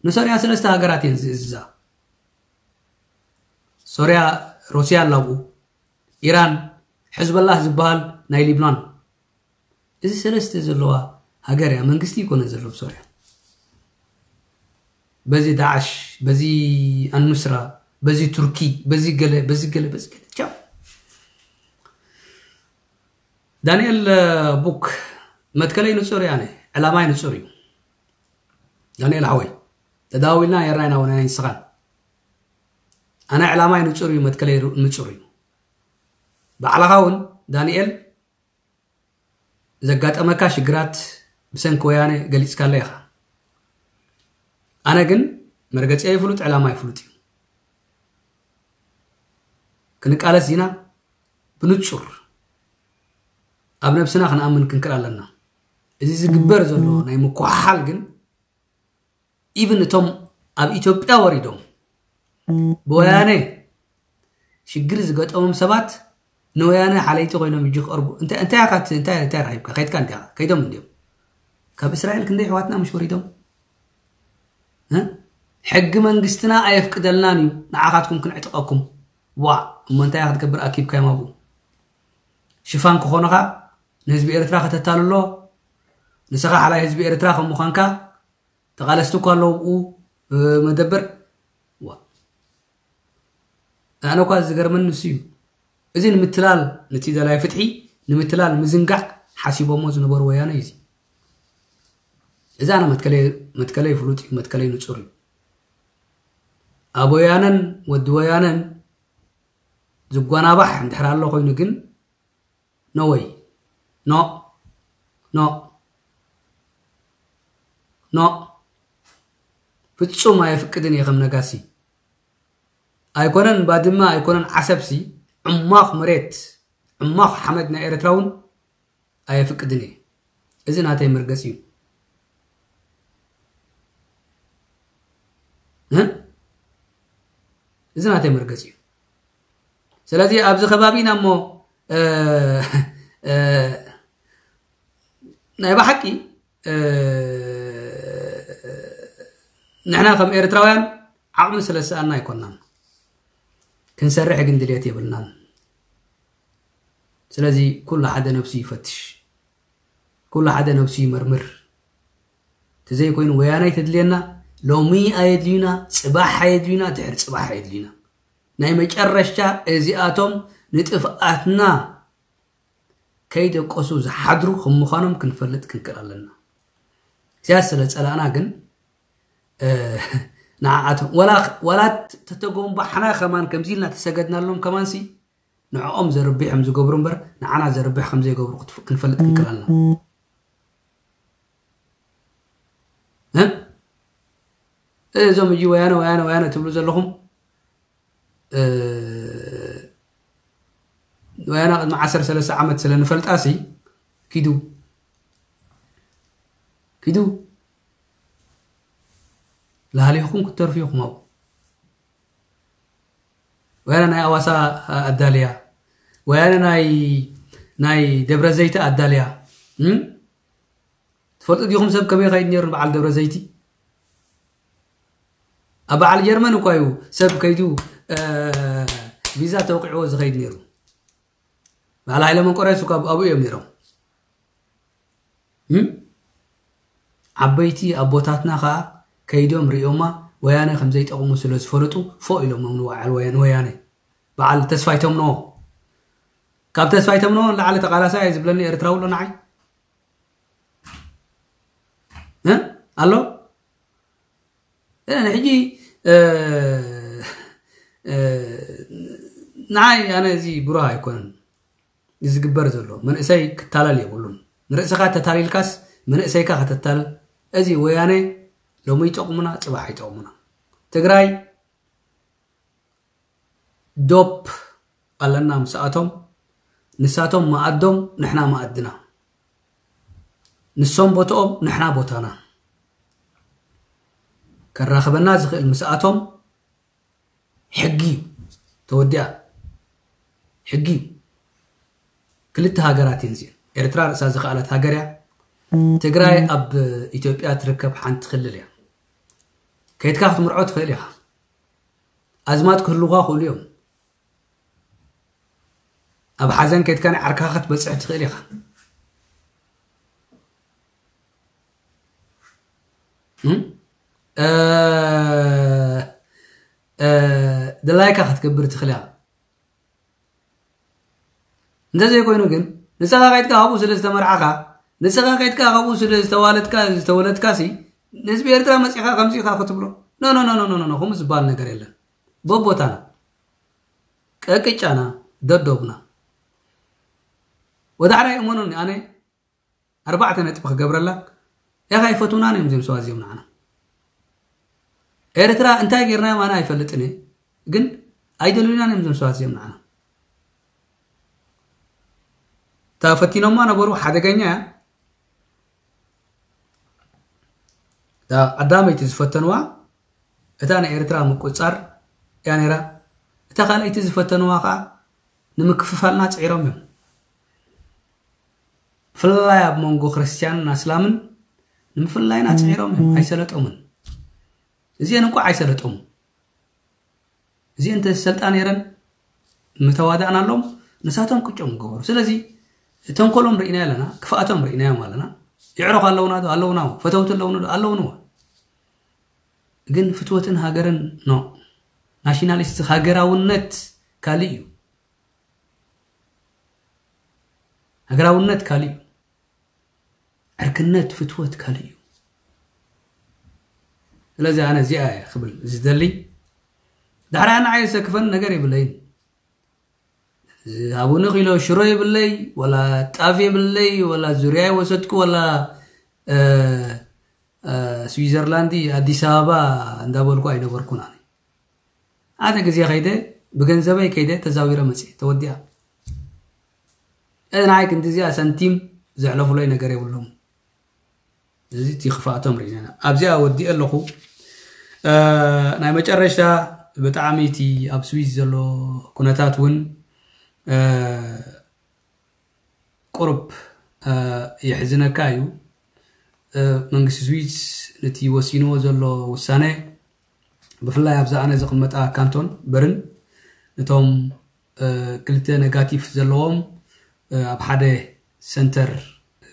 ንሶርያ ሰለስተ ሃገራት እየን ዝእዝዛ። ሶርያ ሩስያ ኣላ ኣብኡ፣ ኢራን፣ ሕዝበላህ ዝበሃል ናይ ሊብናን። እዚ ሰለስተ ዘለዋ ሃገር እያ፣ መንግስቲ ይኮነ ዘሎ ብሶርያ። በዚ ዳዕሽ፣ በዚ ኣኑስራ፣ በዚ ቱርኪ፣ በዚ ገለ፣ በዚ ገለ፣ በዚ ገለ። ቻው። ዳንኤል፣ እ፣ ቡክ፣ መትከለይ ንጹር እየ ኣነ፣ ዕላማይ ንጹር እዩ። ዳንኤል ሓወይ፣ ተዳዋዊልና ነርና ኢና፣ ወናይ ንስኻን። ኣነ ዕላማይ ንጹር እዩ፣ መትከለይ ሩ-፣ ንጹር እዩ። ባዕልኻ እውን ዳንኤል ዘጋጠመካ ሽግራት ብሰንኪ ወያነ ገሊጽካለ ኢኻ። ኣነ ግን መርገጺ ኣይፍሉጥ፣ ዕላማ ኣይፍሉጥ እዩ። ክንቃለስ ዚና ብንጹር ኣብ ነብስና ክንኣምን ክንክእል ኣለና። እዚ ዝግበር ዘሎ ናይ ምኩሓሓል ግን ኢቭን እቶም ኣብ ኢትዮጵያ ወሪዶም ብወያነ ሽግር ዝገጠሞም ሰባት ንወያነ ሓለይቲ ኮይኖም እጅ ክቐርቡ፣ እንታይ፣ እንታይ ኢኻ ት-፣ እንታይ፣ እንታይ ረኺብካ? ከይድካ እንዲኻ፣ ከይዶም እንዲዮም። ካብ እስራኤል ክንደይ ኣሕዋትና ምሽ ወሪዶም? እ? ሕጊ መንግስትና ኣየፍቅደልናን እዩ ንዓኻትኩም ክንዕጥቐኩም። ዋ፣ እሞ እንታይ ክትገብር ኣኪብካዮም ኣብኡ? ሽፋን ክኾኑኻ፣ ንህዝቢ ኤርትራ ከተታልሎ፣ ንስኻ ሓላይ ህዝቢ ኤርትራ ከም ምዃንካ፣ ተቓለስቲ እኳ ኣለዉ ኣብኡ መደበር። ዋ፣ ኣነ እኳ ዝገርመኒ ንሱ እዩ። እዚ ንምትላል፣ ነቲ ደላይ ፍትሒ ንምትላል ምዝንጋዕ ሓሲቦሞ ዝነበሩ ወያነ እዩ እዚ። እዚ ኣነ መትከለይ፣ መትከለይ ፍሉጥ እዩ፣ መትከለይ ንጹር እዩ። ኣብ ወያነን ወዲ ወያነን ዝጓናባሕ እንድሕር ኣሎ ኮይኑ ግን፣ ኖ ወይ፣ ኖ፣ ኖ፣ ኖ፣ ፍጹም ኣየፍቅድን እየ። ከም ነጋሲ ኣይኮነን ባድመ ኣይኮነን ዓሰብሲ፣ ዕማኽ መሬት፣ ዕማኽ ሓመድ ናይ ኤርትራ እውን ኣየፍቅድን እየ። እዚ ናተይ መርገጺ እዩ። እ? እዚ ናተይ መርገጺ እዩ። ስለዚ ኣብዚ ከባቢ ኢና እሞ፣ እ፣ እ፣ ናይ ብሓቂ፣ እ፣ ንሕና ከም ኤርትራውያን ዓቕሚ ስለ ዝሰኣና ኣይኮናን። ክንሰርሕ ግን ድልየት የብልናን። ስለዚ ኩሉ ሓደ ነብሱ ይፈትሽ፣ ኩሉ ሓደ ነብሱ ይመርምር። ተዘይኮይኑ ወያናይ ተድልየና፣ ሎሚ ኣየድልዩና፣ ጽባሕ ኣየድልዩና፣ ድሕሪ ጽባሕ ኣየድልዩና። ናይ መጨረሻ እዚኣቶም ንጥፍኣትና ከይደቀሱ ዝሓድሩ ከም ምዃኖም ክንፈልጥ ክንክእል ኣለና። እዚኣ ስለ ጸላእና ግን፣ እ፣ ንዓኣቶም፣ ወላ፣ ወላ ተተጎንባሕና ከማን ከምዚ ኢልና ተሰገድናሎም ከማንሲ፣ ንዕኦም ዘርብሕ ከም ዝገብሩ እምበር፣ ንዓና ዘርብሕ ከም ዘይገብሩ ክትፍ-፣ ክንፈልጥ ክንክእል ኣለና። እ? እዞም ሕጂ ወያነ፣ ወያነ፣ ወያነ ትብሉ ዘለኹም፣ እ፣ ወያነ ቅድሚ ዓሰርተ ሰለስተ ዓመት ስለ ንፈልጣሲ፣ ኪዱ፣ ኪዱ፣ ላህሊኹም ክትተርፉ ኢኹም ኣብኡ። ወያነ ናይ ኣዋሳ ኣዳልያ፣ ወያነ ናይ፣ ናይ ደብረ ዘይት ኣዳልያ፣ እም? ትፈልጡ ዲኹም ሰብ ከመይ ከይድ ነይሩ በዓል ደብረ ዘይቲ? ኣብ በዓል ጀርመን እኳ እዩ ሰብ ከይዱ፣ እ፣ ቪዛ ተወቂዕዎ ዝኸይድ ነይሩ። በዓል ሃይለ መንቆርዮስ እኳ ኣብኡ እዮም ነይሮም። እም? ዓበይቲ ኣቦታትና ኸኣ ከይዶም ሪኦማ ወያነ ከም ዘይጠቕሙ ስለ ዝፈለጡ ፎእ ኢሎሞም ንበዓል ወያ-፣ ንወያነ። በዓል ተስፋይ ተምኖ። ካብ ተስፋይ ተምኖ ንላዕሊ ተቓላሳይ እየ ዝብለኒ ኤርትራዊ ኣሎ ንዓይ? እ? ኣሎ? እ፣ ሕጂ፣ እ፣ እ፣ ንዓይ ኣነ እዚ ብሩህ ኣይኮነን። እዚ ዝግበር ዘሎ መንእሰይ ክታለል የብሉን። ንርእስኻ ተታሊልካስ መንእሰይካ ከተታልል። እዚ ወያነ ሎሚ ይጠቕሙና፣ ጽባሕ ይጠቕሙና። ትግራይ ዶብ ኣለና ምስኣቶም፣ ንሳቶም መኣዶም ንሕና መኣድና፣ ንሶም ቦትኦም ንሕና ቦታና። ከራኽበና ዝኽእል ምስኣቶም ሕጊ እዩ። ተወዲኣ። ሕጊ እዩ። ክልተ ሃገራት እየን እዚአን። ኤርትራ ርእሳ ዝኸኣለት ሃገር እያ። ትግራይ ኣብ ኢትዮጵያ ትርከብ ሓንቲ ክልል እያ። ከይድካ ክትምርዖ ትኽእል ኢኻ። ኣዝማድ ክህልውኻ ክእሉ እዮም። ኣብ ሓዘን ከይድካ ናይ ዓርካኻ ክትበጽሕ ትኽእል ኢኻ። እም? እ፣ እ፣ ድላይካ ክትገብር ትኽእል ኢኻ። እንተዘይኮይኑ ግን፣ ንስኻ ከይድካ ኣብኡ ስለ ዝተመርዓኻ፣ ንስኻ ከይድካ ኣብኡ ስለ ዝተዋለድካ፣ ዝተወለድካሲ፣ ንህዝቢ ኤርትራ መጺኻ ከምዚ ኢኻ ክትብሎ? ኖ፣ ኖ፣ ኖ፣ ኖ፣ ኖ፣ ኖ፣ ከምኡ ዝበሃል ነገር የለን። በቦታና፣ ቀቅጫና፣ ደዶብና። ወደ ሓዳይ እመኑኒ፣ ኣነ ኣርባዕተ ነጥቢ ክገብረላ፣ ያኻ ኣይፈትውናን እዮም እዞም ሰባት እዚኦም ንዓና። ኤርትራ እንታይ ጌርናዮም ኣነ ኣይፈልጥን እየ፣ ግን ኣይደልዩናን እዮም እዞም ሰባት እዚኦም ንዓና። እታ ፈቲኖማ ነበሩ፣ ሓደገኛ እያ። እታ ቀዳመይቲ ዝፈተንዋ፣ እታ ንኤርትራ ምቁጽጻር እያ ነይራ። እታ ካልኣይቲ ዝፈተንዋ ኸኣ ንምክፍፋልና ጽዒሮም እዮም። ብፍላይ ኣብ መንጎ ክርስትያንን ኣስላምን ንምፍላይና ጽዒሮም እዮም፣ ኣይሰለጦምን። እዚአን እንኳ ኣይሰለጦም። እዚአን እንተ ዝሰልጣ ነይረን ምተዋዳእናሎም፣ ንሳቶም ቅጮም ገበሩ። ስለዚ ተንኮሎም ርኢና ኣለና፣ ክፍኣቶም ርኢናዮም ኣለና። ይዕረኹ ኣለውና ዶ? ኣለውና። ፈተውቲ ኣለውና ዶ? ኣለውንዋ። ግን ፍትወትን ሃገርን፣ ኖ። ናሽናሊስት፣ ሃገራውነት ካልእ እዩ። ሃገራውነት ካልእ እዩ። ዕርክነት፣ ፍትወት ካልእ እዩ። ስለዚ ኣነ እዚኣ እየ ክብል ዝደሊ። ዳሕራይ ንዓይ ዘሰክፈን ነገር የብለይን። ሃቡኒ ኪሎ ሽሮ የብለይ፣ ወላ ጣፍ የብለይ፣ ወላ ዙርያ ይወሰድኩ፣ ወላ፣ እ፣ እ፣ ስዊዘርላንድ፣ ኣዲስ ኣበባ እንዳበልኩ ኣይነበርኩን ኣነ። ሓደ ግዜ ከይደ፣ ብገንዘበይ ከይደ ተዛዊረ መጽየ፣ ተወዲኣ። እዚ ንዓይ ክንዲ እዚኣ ሳንቲም ዘሕለፉለይ ነገር የብሎም። እዚ እቲ ክፍኣቶም ርኢና ኢና። ኣብዚኣ ወዲአ ኣለኹ። እ፣ ናይ መጨረሽታ ብጣዕሚ እቲ ኣብ ስዊዝ ዘሎ ኩነታት እውን፣ እ፣ ቁሩብ፣ እ፣ የሕዝነካ እዩ። እ፣ መንግስቲ ስዊዝ ነቲ ወሲንዎ ዘሎ ውሳነ፣ ብፍላይ ኣብዛ ኣነ ዝቕመጣ ካንቶን በርን፣ ነቶም፣ እ፣ ክልተ ነጋቲቭ ዘለዎም፣ እ፣ ኣብ ሓደ ሰንተር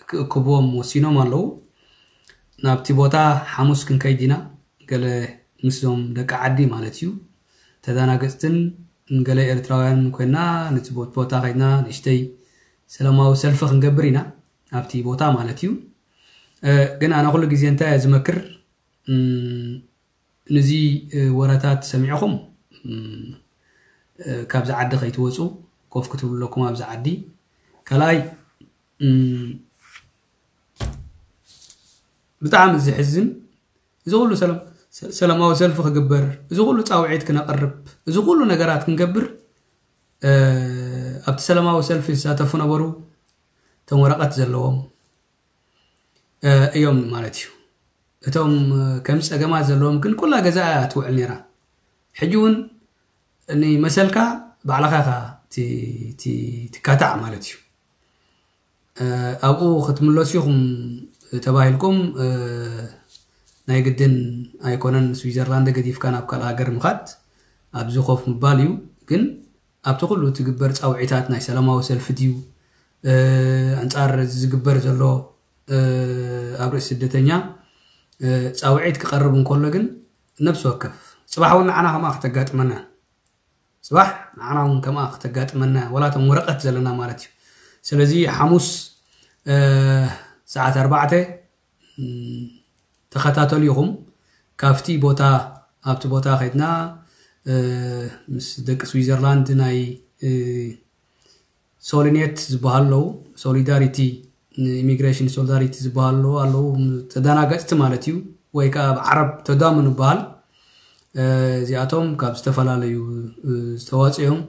ክእክብዎም ወሲኖም ኣለዉ። ናብቲ ቦታ ሓሙስ ክንከይድ ኢና። ገለ ምስዞም ደቂ ዓዲ ማለት እዩ፣ ተዳናገጽትን ገለ ኤርትራውያን ኮይና፣ ነቲ ቦት-፣ ቦታ ከይድና ንእሽተይ ሰላማዊ ሰልፊ ክንገብር ኢና፣ ኣብቲ ቦታ ማለት እዩ። እ፣ ግን ኣነ ኩሉ ግዜ እንታይ እየ ዝመክር፣ እም፣ ነዚ፣ እ፣ ወረታት ሰሚዕኹም፣ እም፣ እ፣ ካብዚ ዓዲ ከይትወጹ፣ ኮፍ ክትብሉ ኣለኩም ኣብዚ ዓዲ። ካልኣይ፣ እም፣ ብጣዕሚ ዝሕዝን፣ እዚ ኩሉ ሰላም-፣ ሰ-፣ ሰላማዊ ሰልፊ ክግበር፣ እዚ ኩሉ ጻውዒት ክነቕርብ፣ እዚ ኩሉ ነገራት ክንገብር፣ እ፣ ኣብቲ ሰላማዊ ሰልፊ ዝሳተፉ ነበሩ፣ እቶም ወረቐት ዘለዎም፣ እ፣ እዮም ማለት እዩ። እቶም፣ እ፣ ከም ጸገማት ዘለዎም ግን ኩላ ገዛ እያ ትውዕል ነይራ። ሕጂ እውን ንመሰልካ ባዕልኻ ኢኻ ቲ-፣ ቲ-፣ ትካታዕ ማለት እዩ። እ፣ ኣብኡ ክትምለሱ ኢኹም ተባሂልኩም፣ እ፣ ናይ ግድን ኣይኮነን ስዊዘርላንድ ገዲፍካ ናብ ካልእ ሃገር ምኻድ፣ ኣብዚ ኮፍ ምባል እዩ። ግን ኣብቲ ኩሉ ትግበር ጻውዒታት ናይ ሰላማዊ ሰልፊ ድዩ፣ እ፣ ኣንጻር እዚ ዝግበር ዘሎ፣ እ፣ ኣብ ርእሲ ስደተኛ፣ እ፣ ጻውዒት ክቐርብ እንከሎ ግን ነብሲ ወከፍ ጽባሕ እውን ንዓና ከምኣ ከተጋጥመና፣ ጽባሕ ንዓና እውን ከምኣ ከተጋጥመና፣ ወላ እቶም ወረቐት ዘለና ማለት እዩ። ስለዚ ሓሙስ፣ እ፣ ሰዓት ኣርባዕተ፣ እም፣ ተኸታተሉ ኢኹም። ካብቲ ቦታ፣ ኣብቲ ቦታ ከይድና፣ እ፣ ምስ ደቂ ስዊዘርላንድ ናይ፣ እ፣ ሶሊኔት ዝበሃሉ ኣለዉ፣ ሶሊዳሪቲ፣ ኢሚግሬሽን ሶሊዳሪቲ ዝበሃሉ ኣለዉ፣ ተደናገጽቲ ማለት እዩ፣ ወይ ከኣ ኣብ ዓረብ ተዳምኑ ይበሃል። እ፣ እዚኣቶም ካብ ዝተፈላለዩ፣ እ፣ ዝተዋጽኡ እዮም።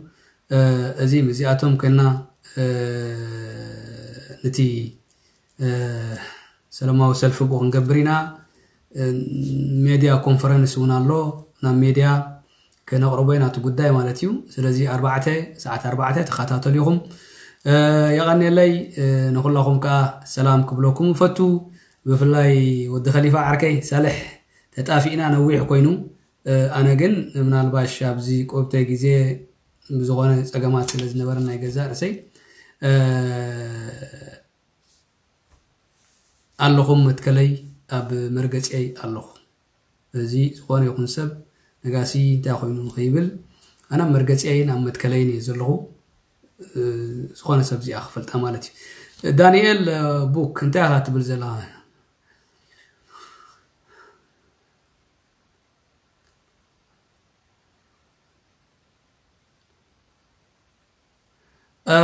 እ፣ እዚ እዚኣቶም ኮይና፣ እ፣ ነቲ፣ እ፣ ሰላማዊ ሰልፊ ብኡ ክንገብር ኢና። እ፣ ሜድያ ኮንፈረንስ እውን ኣሎ፣ ናብ ሜድያ ከነቕርቦ ኢና እቲ ጉዳይ ማለት እዩ። ስለዚ ኣርባዕተ፣ ሰዓት ኣርባዕተ ተኸታተሉ ኢኹም። እ፣ የቐንየለይ፣ እ፣ ንኹላኹም ከኣ ሰላም ክብለኩም እፈቱ። ብፍላይ ወዲ ኸሊፋ ዓርከይ ሳልሕ ተጣፊእና ነዊሕ ኮይኑ፣ እ፣ ኣነ ግን ምናልባሽ ኣብዚ ቁርብተይ ግዜ ብዝኾነ ጸገማት ስለ ዝነበረ ናይ ገዛእ ርእሰይ፣ እ፣ ኣለኹም መትከለይ ኣብ መርገጺየይ ኣለኹ። እዚ ዝኾነ ይኹን ሰብ ነጋሲ እንታይ ኮይኑ ከይብል ኣነ ኣብ መርገጺየይን ኣብ መትከለይን እየ ዘለኹ። እ፣ ዝኾነ ሰብ እዚኣ ክፈልጣ ማለት እዩ። ዳንኤል፣ እ፣ ቡክ እንታይ ኢኻ ትብል ዘለኻ? እ፣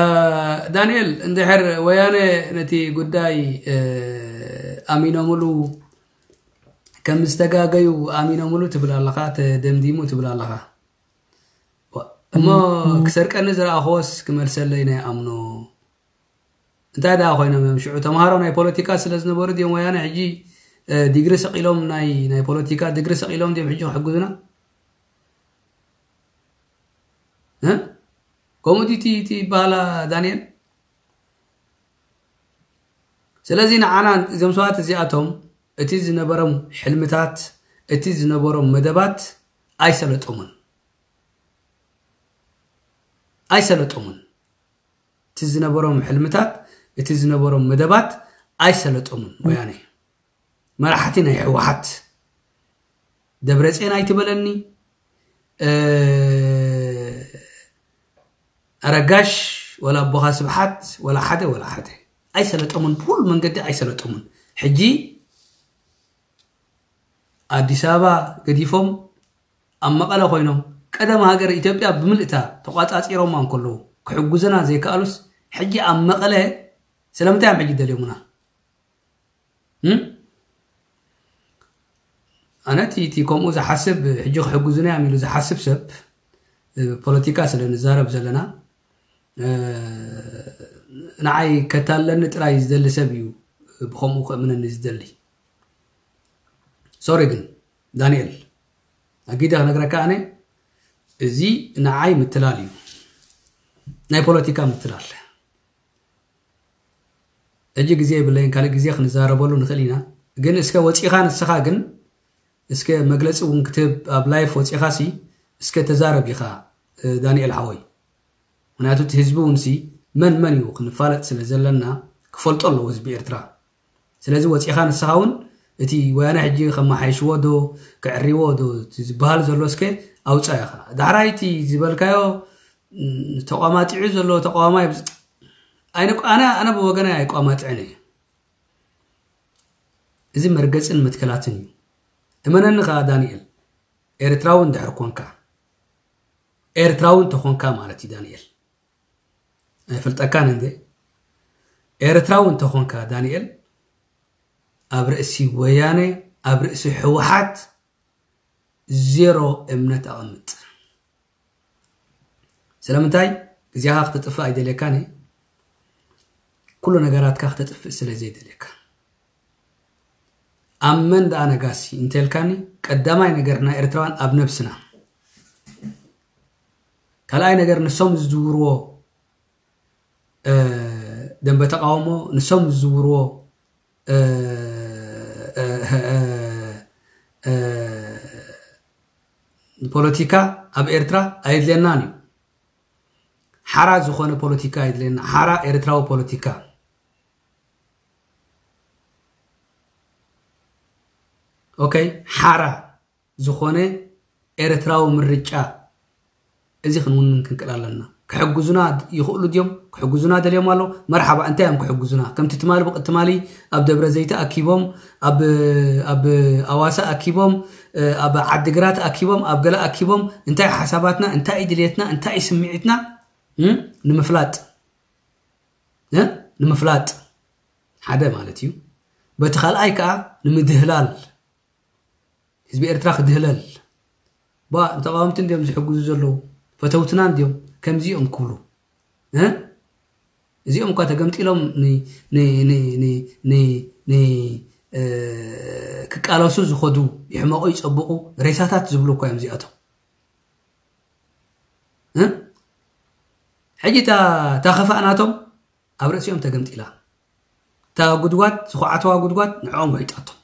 ዳንኤል፣ እንድሕር ወያነ ነቲ ጉዳይ፣ እ፣ ኣሚኖምሉ፣ ከም ዝተጋገዩ ኣሚኖምሉ ትብል ኣለኻ፣ ተደምዲሙ ትብል ኣለኻ። ዋ፣ እሞ እም። ክሰርቀኒ ዝረኣኽዎስ ክመልሰለይ ናይ ኣምኖ። እንታይ ደኣ ኮይኖም እዮም ሽዑ? ተምሃሮ ናይ ፖለቲካ ስለ ዝነበሩ ድዮም ወያነ ሕጂ፣ እ፣ ዲግሪ ሰቒሎም ናይ፣ ናይ ፖለቲካ ዲግሪ ሰቒሎም ድዮም ሕጂ ክሕግዙና? እ? ከምኡ ድዩ እቲ፣ እቲ ይበሃላ ዳንኤል? ስለዚ ንዓና እዞም ሰባት እዚኣቶም እቲ ዝነበሮም ሕልምታት፣ እቲ ዝነበሮም መደባት ኣይሰለጦምን ኣይሰለጦምን እቲ ዝነበሮም ሕልምታት እቲ ዝነበሮም መደባት ኣይሰለጦምን ወያነ መራሕቲ ናይ ሕወሓት ደብረፅዮን ኣይትበለኒ ኣረጋሽ ወላ ኣቦኻ ስብሓት ወላ ሓደ ወላ ሓደ ኣይሰለጦምን ብኩሉ መንገዲ ኣይሰለጦምን ሕጂ ኣዲስ ኣበባ ገዲፎም ኣብ መቐለ ኮይኖም ቀደም ሃገር ኢትዮጵያ ብምልእታ ተቋፃፂሮማ እንከለዉ ክሕጉዝና ዘይከኣሉስ ሕጂ ኣብ መቐለ ስለምንታይ እዮም ሕጂ ደልዮምና ኣነ እቲ ከምኡ ዝሓስብ ሕጂ ክሕግዙና እዮም ኢሉ ዝሓስብ ሰብ ፖለቲካ ስለ ንዛረብ ዘለና ንዓይ ከታለኒ ጥራይ ዝደሊ ሰብ እዩ ብከምኡ ክእምነኒ ዝደሊ ሶሪ ግን ዳንኤል ኣጊደ ክነግረካ ኣነ እዚ ንዓይ ምትላል እዩ ናይ ፖለቲካ ምትላል ሕጂ ግዜ የብለይን ካልእ ግዜ ክንዛረበሉ ንኽእል ኢና ግን እስከ ወፂኻ ንስኻ ግን እስከ መግለፂ እውን ክትህብ ኣብ live ወፂኻ ሲ እስከ ተዛረብ ኢኻ ዳንኤል ሓወይ ምክንያቱ እቲ ህዝቢ እውን ሲ መን መን እዩ ክንፋለጥ ስለ ዘለና ክፈልጦ ኣለዎ ህዝቢ ኤርትራ ስለዚ ወፂኻ ንስኻ እውን እቲ ወያነ ሕጂ ከመሓይሽዎ ዶ ክዕሪዎ ዶ ዝበሃል ዘሎ እስከ ኣውፃ ኢኻ ዳሕራይ እቲ ዝበልካዮ ተቋማጢዑ ዘሎ ተቋማ ኣነ ኣነ ብወገናይ ኣይቋማጥዕን እየ እዚ መርገፅን መትከላትን እዩ እመነኒ ከዓ ዳንኤል ኤርትራዊ እንድሕር ኮንካ ኤርትራዊ እንተኾንካ ማለት እዩ ዳንኤል ኣይፈልጠካን እንዴ ኤርትራዊ እንተኾንካ ዳንኤል ኣብ ርእሲ ወያነ ኣብ ርእሲ ሕወሓት ዜሮ እምነት ኣቐምጥ ስለምንታይ ግዜኻ ክተጥፍእ ኣይደልየካን እየ ኩሉ ነገራትካ ክተጥፍእ ስለ ዘይደልየካ ኣብ መን ደኣ ነጋሲ እንተልካኒ ቀዳማይ ነገር ናይ ኤርትራውያን ኣብ ነብስና ካልኣይ ነገር ንሶም ዝዝውርዎ ደንበ ተቃውሞ ንሶም ዝዝውርዎ ፖለቲካ ኣብ ኤርትራ ኣየድልየናን እዩ ሓራ ዝኾነ ፖለቲካ የድልየና ሓራ ኤርትራዊ ፖለቲካ ኦከይ ሓራ ዝኾነ ኤርትራዊ ምርጫ እዚ ክንውንን ክንክእል ኣለና ክሕግዙና ይኽእሉ ድዮም ክሕግዙና ደልዮም ኣሎ መርሓባ እንታይ እዮም ክሕግዙና ከምቲ ትማሊ ብቅትማሊ ኣብ ደብረ ዘይተ ኣኪቦም ኣብ ኣብ ኣዋሳ ኣኪቦም ኣብ ዓድግራት ኣኪቦም ኣብ ገለ ኣኪቦም እንታይ ሓሳባትና እንታይ ድልየትና እንታይ ስምዒትና ንምፍላጥ ንምፍላጥ ሓደ ማለት እዩ በቲ ካልኣይ ከዓ ንምድህላል ህዝቢ ኤርትራ ክድህለል ባ ንተቃወምቲ እንዲዮም ዝሕግዙ ዘለዉ ፈተውትና እንዲዮም ከምዚኦም ክብሉ እዚኦም እኳ ተገምጢሎም ክቃለሱ ዝኸዱ ይሕመቑ ይፀብቑ ሬሳታት ዝብሉ እኳ እዮም እዚኣቶም ሕጂ እታ ከፋእ ናቶም ኣብ ርእሲኦም ተገምጢላ እታ ጉድጓድ ዝኹዓተዋ ጉድጓድ ንዕኦም ውሒጣቶም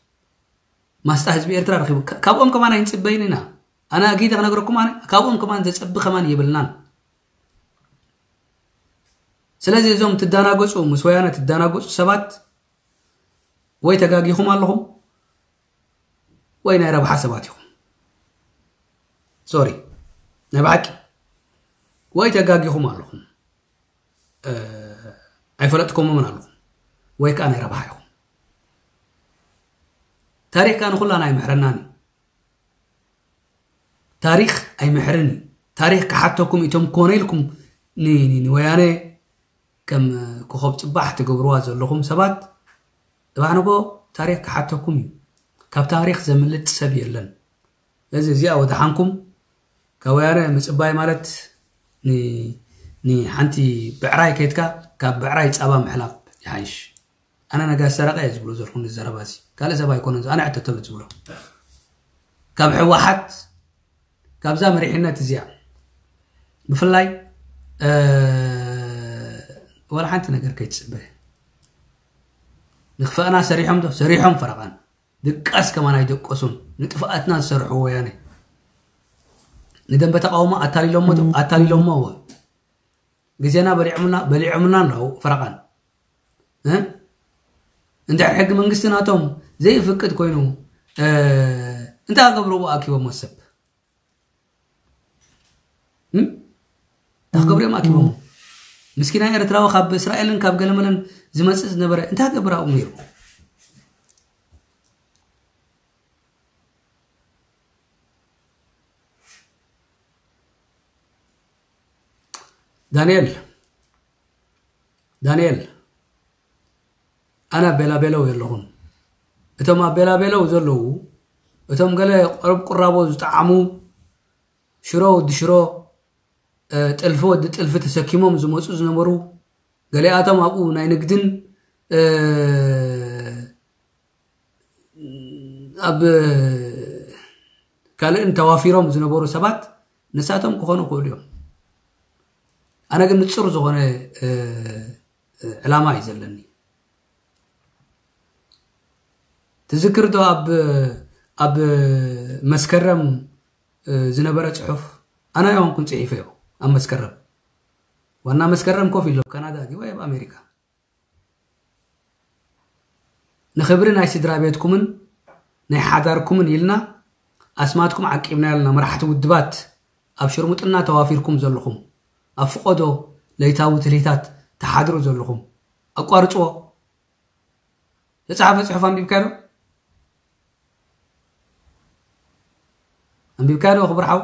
ማስጣ ህዝቢ ኤርትራ ረኺቡ ካብኦም ከማን ኣይንፅበይን ኢና ኣነ ኣጊደ ክነግረኩም ኣነ ካብኦም ከማን ዘፀቢ ከማን የብልናን ስለዚ እዞም ትዳናገፁ ምስ ወያነ ትዳናገፁ ሰባት ወይ ተጋጊኹም ኣለኹም ወይ ናይ ረብሓ ሰባት ኢኹም ሶሪ ናይ ብሓቂ ወይ ተጋጊኹም ኣለኹም ኣይፈለጥኩሞምን ኣለኹም ወይ ከዓ ናይ ረብሓ ኢኹም ታሪክ ከዓ ንኩላና ኣይምሕረናን እዩ ታሪክ ኣይምሕርን እዩ ታሪክ ክሓተኩም እቶም ኮነ ኢልኩም ንወያነ ከም ኮኸብ ፅባሕ ትገብርዋ ዘለኹም ሰባት እባዕንጎ ታሪክ ክሓተኩም እዩ ካብ ታሪክ ዘምልጥ ሰብ የለን እዚ እዚኣ ወድሓንኩም ካብ ወያነ ምፅባይ ማለት ንሓንቲ ብዕራይ ከይትካ ካብ ብዕራይ ፃባ ምሕላብ ይሓይሽ ኣነ ነጋ ሰረቀ እየ ዝብሎ ዘለኹ ንዘረባ እዚ ካልእ ሰብ ኣይኮነን ኣነ ዕተተሉ ዝብሎ ካብ ሕወሓት ካብዛ መሪሕነት እዚኣ ብፍላይ ወላ ሓንቲ ነገር ከይትፅበ ንክፈእና ሰሪሖም ዶ ሰሪሖም ፈረቓን ድቃስ ከማን ኣይደቀሱን ንጥፍኣትና ዝሰርሑ ወያነ ንደንበ ተቃውሞ ኣታሊሎሞ ኣታሊሎሞ ግዜና በሊዖምና በሊዖምና ኣለዉ ፈረቓን እ? እንድሕር ሕጊ መንግስቲ ናቶም ዘይፍቅድ ኮይኑ እ፣ እንታይ ክገብርዎ ኣኪቦሞ ሰብ እ? እንታይ ክገብሩ እዮም ኣኪቦሞ ምስኪና ኤርትራዊ ካብ እስራኤልን ካብ ገለመለን ዝመፅእ ዝነበረ እንታይ ክገብር ኣብኡ ነይሩ ዳንኤል ዳንኤል ኣነ ኣብ ቤላቤለው የለኹን እቶም ኣብ ቤላቤለው ዘለዉ እቶም ገለ ቆረብ ቁራቦ ዝጠዓሙ ሽሮ ወዲ ሽሮ እ፣ ጥልፊ ወዲ ጥልፊ ተሰኪሞም ዝመፁ ዝነበሩ ገሊኣቶም ኣብኡ ናይ ንግድን እ፣ ኣብ ካልእን ተዋፊሮም ዝነበሩ ሰባት ንሳቶም ክኾኑ ይኽእሉ እዮም ኣነ ግን ንፁር ዝኾነ እ፣ ዕላማ እዩ ዘለኒ ትዝክር ዶ ኣብ ኣብ መስከረም እ፣ ዝነበረ ፅሑፍ ኣና ይሆንኩን ፅሒፈዮ ኣብ መስከረም ዋና መስከረም ኮፍ ኢሎ ካናዳ ድዩ ወይ ኣብ ኣሜሪካ ንኽብሪ ናይ ስድራ ቤትኩምን ናይ ሓዳርኩምን ኢልና ኣስማትኩም ዓቂብና ያልና መራሕቲ ውድባት ኣብ ሽርሙጥና ተዋፊርኩም ዘለኹም ኣብ ፍቆዶ ለይታዊ ትልሂታት ተሓድሩ ዘለኹም ኣቋርፅዎ ዝተፃሓፈ ፅሑፍ ኣንቢብካ ዶ ኣንቢብካ ዶ ክብርሓው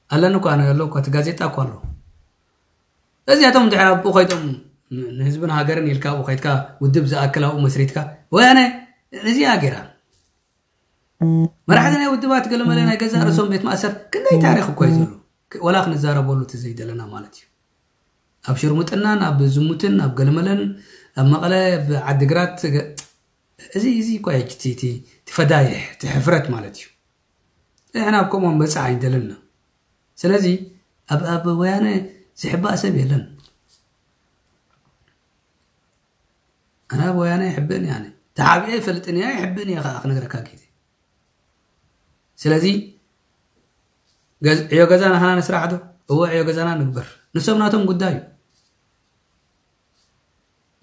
ኣለኒ እኳ ኣነ ኣሎ እኳ እቲ ጋዜጣ እኳ ኣሎ እዚኣቶም እንድሕር ኣብኡ ከይዶም ንህዝብን ሃገርን ኢልካ ኣብኡ ከይድካ ውድብ ዝኣክል ኣብኡ መስሪትካ ወያነ እዚኣ ገይራ መራሕቲ ናይ ውድባት ገለመለ ናይ ገዛ ርእሶም ቤት ማእሰር ክንደይ ታሪክ እኳ እዩ ዘሎ ወላ ክንዛረበሉ እቲ ዘይደለና ማለት እዩ ኣብ ሽርሙጥናን ኣብ ዝሙትን ኣብ ገለመለን ኣብ መቐለ ኣብ ዓዲግራት እዚ እዚ እኳ እዩ እቲ ፈዳይሕ እቲ ሕፍረት ማለት እዩ ንሕና ኣብ ከምኡ በፃዕ ኣይደለና ስለዚ ኣብ ኣብ ወያነ ዝሕባእ ሰብ የለን ኣነ ኣብ ወያነ ይሕብእን እየ ኣነ ተሓቢኤ ይፈልጥን እየ ይሕብእን እየ ከዓ ክነግረካ ጌዜ ስለዚ ዕዮ ገዛ ናህና ንስራሕ ዶ እወ ዕዮ ገዛና ንግበር ንሶም ናቶም ጉዳይ እዩ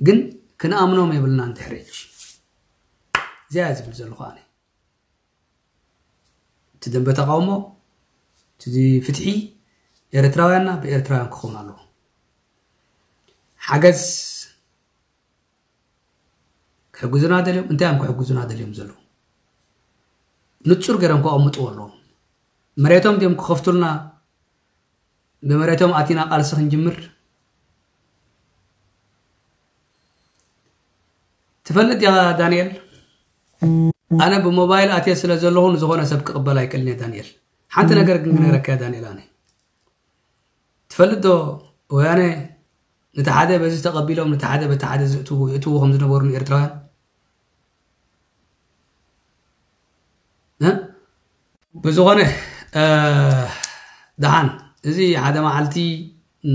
ግን ክንኣምኖም የብልና እንድሕረች እዚያ ዝብል ዘለኹ ኣነ እቲ ደንበ ተቃውሞ እቲ ፍትሒ ኤርትራውያንና ብኤርትራውያን ክኸውን ኣለዎ ሓገዝ ክሕግዙና ደልዮም እንታይ እዮም ክሕግዙና ደልዮም ዘለዉ ንፁር ገይሮም ከቐምጥዎ ኣለዎም መሬቶም ድዮም ክኸፍቱልና ብመሬቶም ኣቲና ቃልሲ ክንጅምር ትፈልጥ ያ ዳንኤል ኣነ ብሞባይል ኣትየ ስለ ዘለኹ ንዝኾነ ሰብ ክቕበል ኣይክእልን እየ ዳንኤል ሓንቲ ነገር ግን ክነግረካ ያ ዳንኤል ኣነ ትፈልጥ ዶ ወያነ ነቲ ሓደ በዚ ተቐቢሎም ነቲ ሓደ በቲ ሓደ ዝእትዉ ይእትዉ ከም ዝነበሩ ንኤርትራውያን እ? ብዝኾነ እ፣ ደሓን እዚ ሓደ መዓልቲ ም፣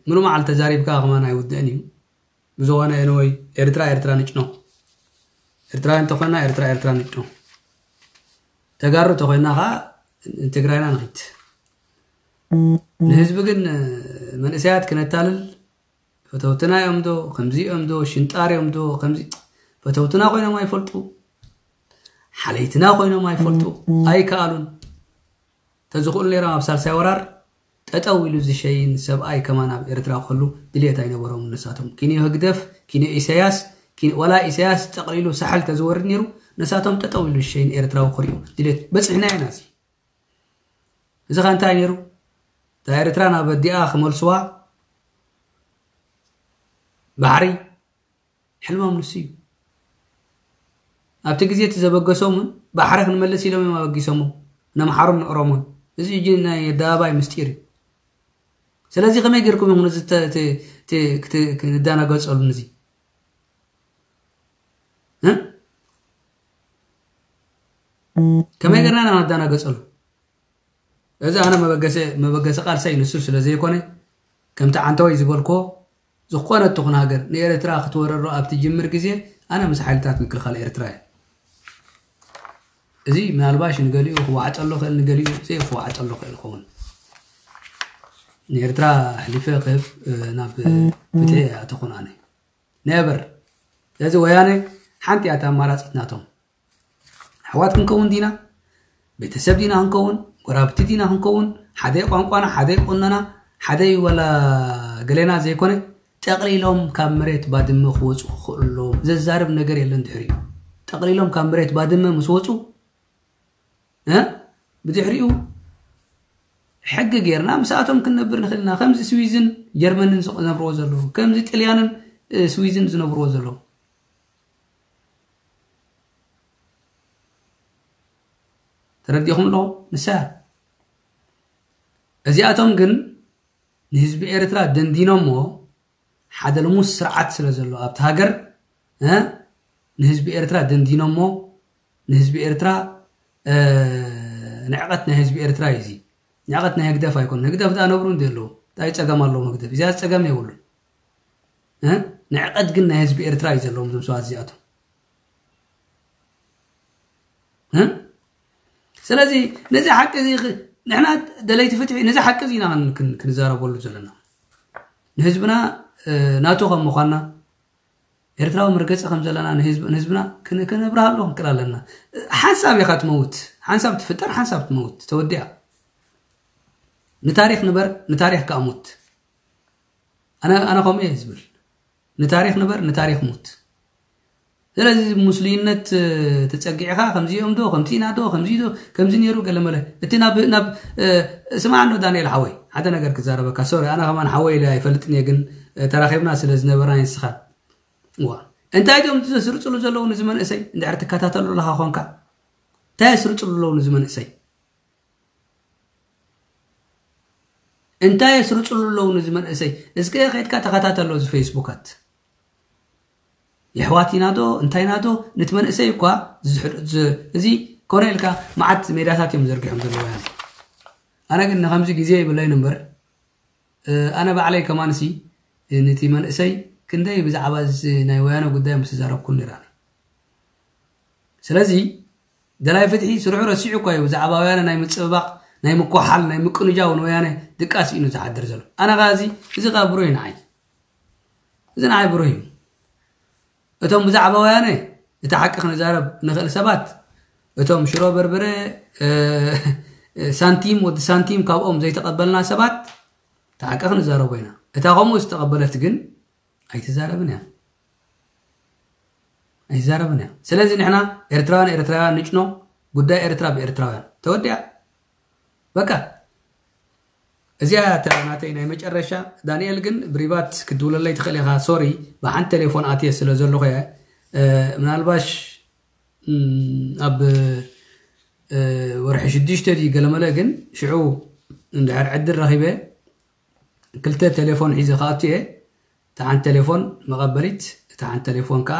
ምሉ መዓልቲ ተዛሪብካ ከማን ኣይውድእን እዩ ብዝኾነ ኤንወይ ኤርትራ ኤርትራ ንጭኖ ኤርትራውያን እንተኾይና ኤርትራ ኤርትራ ንጭኖ ተጋሩ እንተኾይና ከዓ ትግራይና ንኺድ ንህዝቢ ግን መንእሰያት ክነታልል ፈተውትና እዮም ዶ ከምዚ እዮም ዶ ሽንጣር እዮም ዶ ከምዚ ፈተውትና ኮይኖም ኣይፈልጡ ሓለይትና ኮይኖም ኣይፈልጡ ኣይከኣሉን ተዝኽእሉ ነይሮም ኣብ ሳልሳይ ወራር ጠጠው ኢሉ ዝሸይን ሰብኣይ ከማን ኣብ ኤርትራ ከሉ ድልየት ኣይነበሮም ነሳቶም ኪንዮ ህግደፍ ኪንዮ ኢሳያስ ኪን- ወላ ኢሳያስ ጠቕሊሉ ሳሕል ተዝወርድ ነይሩ ነሳቶም ጠጠው ኢሉ ዝሸይን ኤርትራዊ ክሪኡ ድልየት በፂሕና ኢና እዚ እዚ ኸ እንታይ ነይሩ እታ ኤርትራ ናብ ኣዲኣ ክመልስዋ ባሕሪ ሕልሞም ንሱ እዩ ኣብቲ ግዜ እቲ ዘበገሶምን ባሕሪ ክንመልስ ኢሎም እዮም ኣበጊሶሞ ነምሓሩን ንእሮሞን እዚ እጂ ናይ ኣደባባይ ምስጢር እዩ ስለዚ ከመይ ጌርኩም ኢኹም ነዚ ክንዳናገጸሉ ነዚ ከመይ ጌርና ኢና ንዳናገጸሉ እዚ ኣነ መበገሲ ቃልሰይ ንሱ ስለ ዘይኮነ ከምቲ ዓንተወይ ዝበልክዎ ዝኾነት ትኹን ሃገር ንኤርትራ ክትወረሮ ኣብ ትጅምር ግዜ ኣነ ምስ ሓይልታት ምክልኻል ኤርትራ እየ። እዚ ምናልባሽ ንገሊኡ ክወዓጠሎ ክእል፣ ንገሊኡ ዘይክወዓጠሎ ክእል ይኸውን። ንኤርትራ ኣሕሊፈ ክህብ ናብ ፍትሒ ኣይኣተኹን ኣነ ነበር። ስለዚ ወያነ ሓንቲ እያ ኣማራፂት ናቶም። ኣሕዋት ክንከውን ዲና፣ ቤተሰብ ዲና ክንከውን፣ ጎራብቲ ዲና ክንከውን፣ ሓደ ቋንቋና፣ ሓደ ቁኖና፣ ሓደ ወላ ገሌና ዘይኮነ፣ ጠቕሊሎም ካብ መሬት ባድመ ክወፁ ክኽእሉ ኣለዎም። ዘዛርብ ነገር የለን ድሕሪኡ። ጠቕሊሎም ካብ መሬት ባድመ ምስ ወፁ፣ እ? ብድሕሪኡ ሕጊ ጌርና ምስኣቶም ክንነብር ንኽእል ኢና። ከምዚ ስዊዝን ጀርመንን ዝነብርዎ ዘለዉ፣ ከምዚ ጥልያንን፣ እ፣ ስዊዝን ዝነብርዎ ዘለዉ። ተረዲኹም ኣለኹም? ንሳ እያ። እዚኣቶም ግን ንህዝቢ ኤርትራ ደንዲኖሞ፣ ሓደ ልሙስ ስርዓት ስለ ዘሎ ኣብቲ ሃገር፣ እ፣ ንህዝቢ ኤርትራ ደንዲኖሞ፣ ንህዝቢ ኤርትራ፣ እ፣ ንዕቐት ናይ ህዝቢ ኤርትራ እዩ እዚ። ንዕቐት ናይ ህግደፍ ኣይኮነን። ህግደፍ ደኣ ነብሩ እንዲ ኣለዉ፣ እንታይ ጸገም ኣለዎም ህግደፍ? እዚኣ ጸገም የብሉን። እ? ንዕቐት ግን ናይ ህዝቢ ኤርትራ እዩ ዘለዎም እዞም ሰባት እዚኣቶም። እ? ስለዚ ነዚ ሓቂ እዚ ኽ-፣ ንሕና ደለይቲ ፍትሒ ነዚ ሓቂ እዚ ኢና ክን-፣ ክን-፣ ክንዛረበሉ ዘለና። ንህዝብና፣ እ፣ ናቱ ከም ምዃንና፣ ኤርትራዊ መርገጺ ከም ዘለና ንህዝብ-፣ ንህዝብና ክን-፣ ክነብርሃሉ ክንክእል ኣለና። ሓንሳብ ኢኻ ትመውት፣ ሓንሳብ ትፍጠር፣ ሓንሳብ ትመውት፣ ተወዲኣ። ንታሪኽ ንበር፣ ንታሪኽ ከኣ ሙት። ኣነ፣ ኣነ ከምኡ እየ ዝብል። ንታሪኽ ንበር፣ ንታሪኽ ሙት። ስለዚ ሙስሊምነት፣ እ፣ ተጸጊዕኻ ከምዚ እዮም ዶ፣ ከምዚ ኢና ዶ፣ ከምዚ ዶ፣ ከምዚ ነይሩ ገለ መለ። እቲ ናብ፣ ናብ፣ እ፣ ስማዕ እንዶ ዳንኤል ሓወይ፣ ሓደ ነገር ክዛረበካ። ሶሪ፣ ኣነ ከማን ሓወይ ኢለ ኣይፈልጥን እየ፣ ግን፣ እ፣ ተራኺብና ስለ ዝነበርና ንስኻን። እዋ። እንታይ ድዮም ዘስርጽሉ ዘለዉ ንዚ መንእሰይ? እንድሕር ትከታተሉ ኣለኻ ኾንካ። እንታይ የስርጽሉ ኣለዉ ንዚ መንእሰይ? እንታይ የስርጽሉ ኣለዉ ንዚ መንእሰይ? እስከ ከይድካ ተኸታተሎ እዚ ፌስቡካት። የሕዋት ኢና ዶ፣ እንታይ ኢና ዶ፣ ንቲ መንእሰይ እኳ ዝሕድ-፣ ዝ-፣ እዚ ኮነ ኢልካ መዓት ሜዳታት እዮም ዘርጊሖም ዘለዉ ያኔ። ኣነ ግን ንኸምዚ ግዜ ይብለይን እምበር፣ እ፣ ኣነ ባዕለይ ከማንሲ፣ እ፣ ንቲ መንእሰይ ክንደይ ብዛዕባ እዚ ናይ ወያነ ጉዳይ ምስ ተዛረብኩ ነይረ ኣነ። ስለዚ ደላይ ፍትሒ ስርሑ ረሲዑ እኳ እዩ ብዛዕባ ወያነ ናይ ምጽብባቕ፣ ናይ ምኳሓል፣ ናይ ምቅንጃው ንወያነ ድቃስ እዩ ዝሓድር ዘሎ። ኣነ ኸኣ እዚ፣ እዚ ኸኣ ብሩህ እዩ ንዓይ። እዚ ንዓይ ብሩህ እዩ። እቶም ብዛዕባ ወያነ እቲ ሓቂ ክንዛረብ ንኽእል ሰባት፣ እቶም ሽሮ በርበረ፣ እ፣ ሳንቲም፣ ወዲ ሳንቲም ካብኦም ዘይተቐበልና ሰባት፣ እቲ ሓቂ ክንዛረቦ ኢና። እታ ከምኡ ዝተቐበለት ግን ኣይትዛረብን እያ። ኣይትዛረብን እያ። ስለዚ ንሕና ኤርትራውያን፣ ኤርትራውያን ንጭኖ፣ ጉዳይ ኤርትራ ብኤርትራውያን። ተወዲኣ። በቃ። እዚኣ እያ እታ ናተይ ናይ መጨረሻ። ዳንኤል ግን ብሪባት ክትድውለለይ ትኽእል ኢኻ። ሶሪ፣ ብሓንቲ ቴሌፎን ኣትየ ስለ ዘለኹ እየ። እ፣ ምናልባሽ፣ እም፣ ኣብ፣ እ፣ ወርሒ ሽዱሽተ ድዩ ገለመለ፣ ግን ሽዑ እንድሕር ዕድል ረኺበ ክልተ ቴሌፎን ሒዘ ክኣቱ እየ። እታ ሓንቲ ቴሌፎን መቐበሊት፣ እታ ሓንቲ ቴሌፎን ከኣ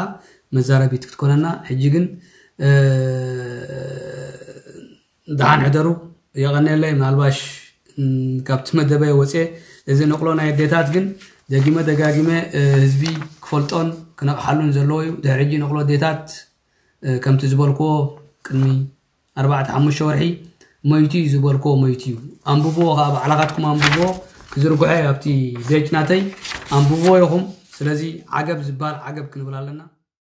መዛረቢት ክትኮነና። ሕጂ ግን፣ እ፣ ደሓን ሕደሩ፣ የቐንየለይ። ምናልባሽ፣ ም፣ ካብቲ መደበይ ወፅየ፣ እዚ ንቕሎ ናይ ኣዴታት ግን ደጊመ ደጋጊመ፣ እ፣ ህዝቢ ክፈልጦን ክነቕሓሉን ዘለዎ እዩ። ድሕሪ ሕጂ ንቕሎ ኣዴታት፣ እ፣ ከምቲ ዝበልክዎ ቅድሚ ኣርባዕተ ሓሙሽተ ወርሒ ሞይቱ እዩ ዝበልክዎ ሞይቱ እዩ። ኣንብብዎ ኸዓ፣ ባዕላኻትኩም ኣንብብዎ፣ ክዝርግሖ እዩ ኣብቲ ፔጅ ናተይ። ኣንብብዎ ኢኹም። ስለዚ ዓገብ ዝበሃል ዓገብ ክንብል ኣለና።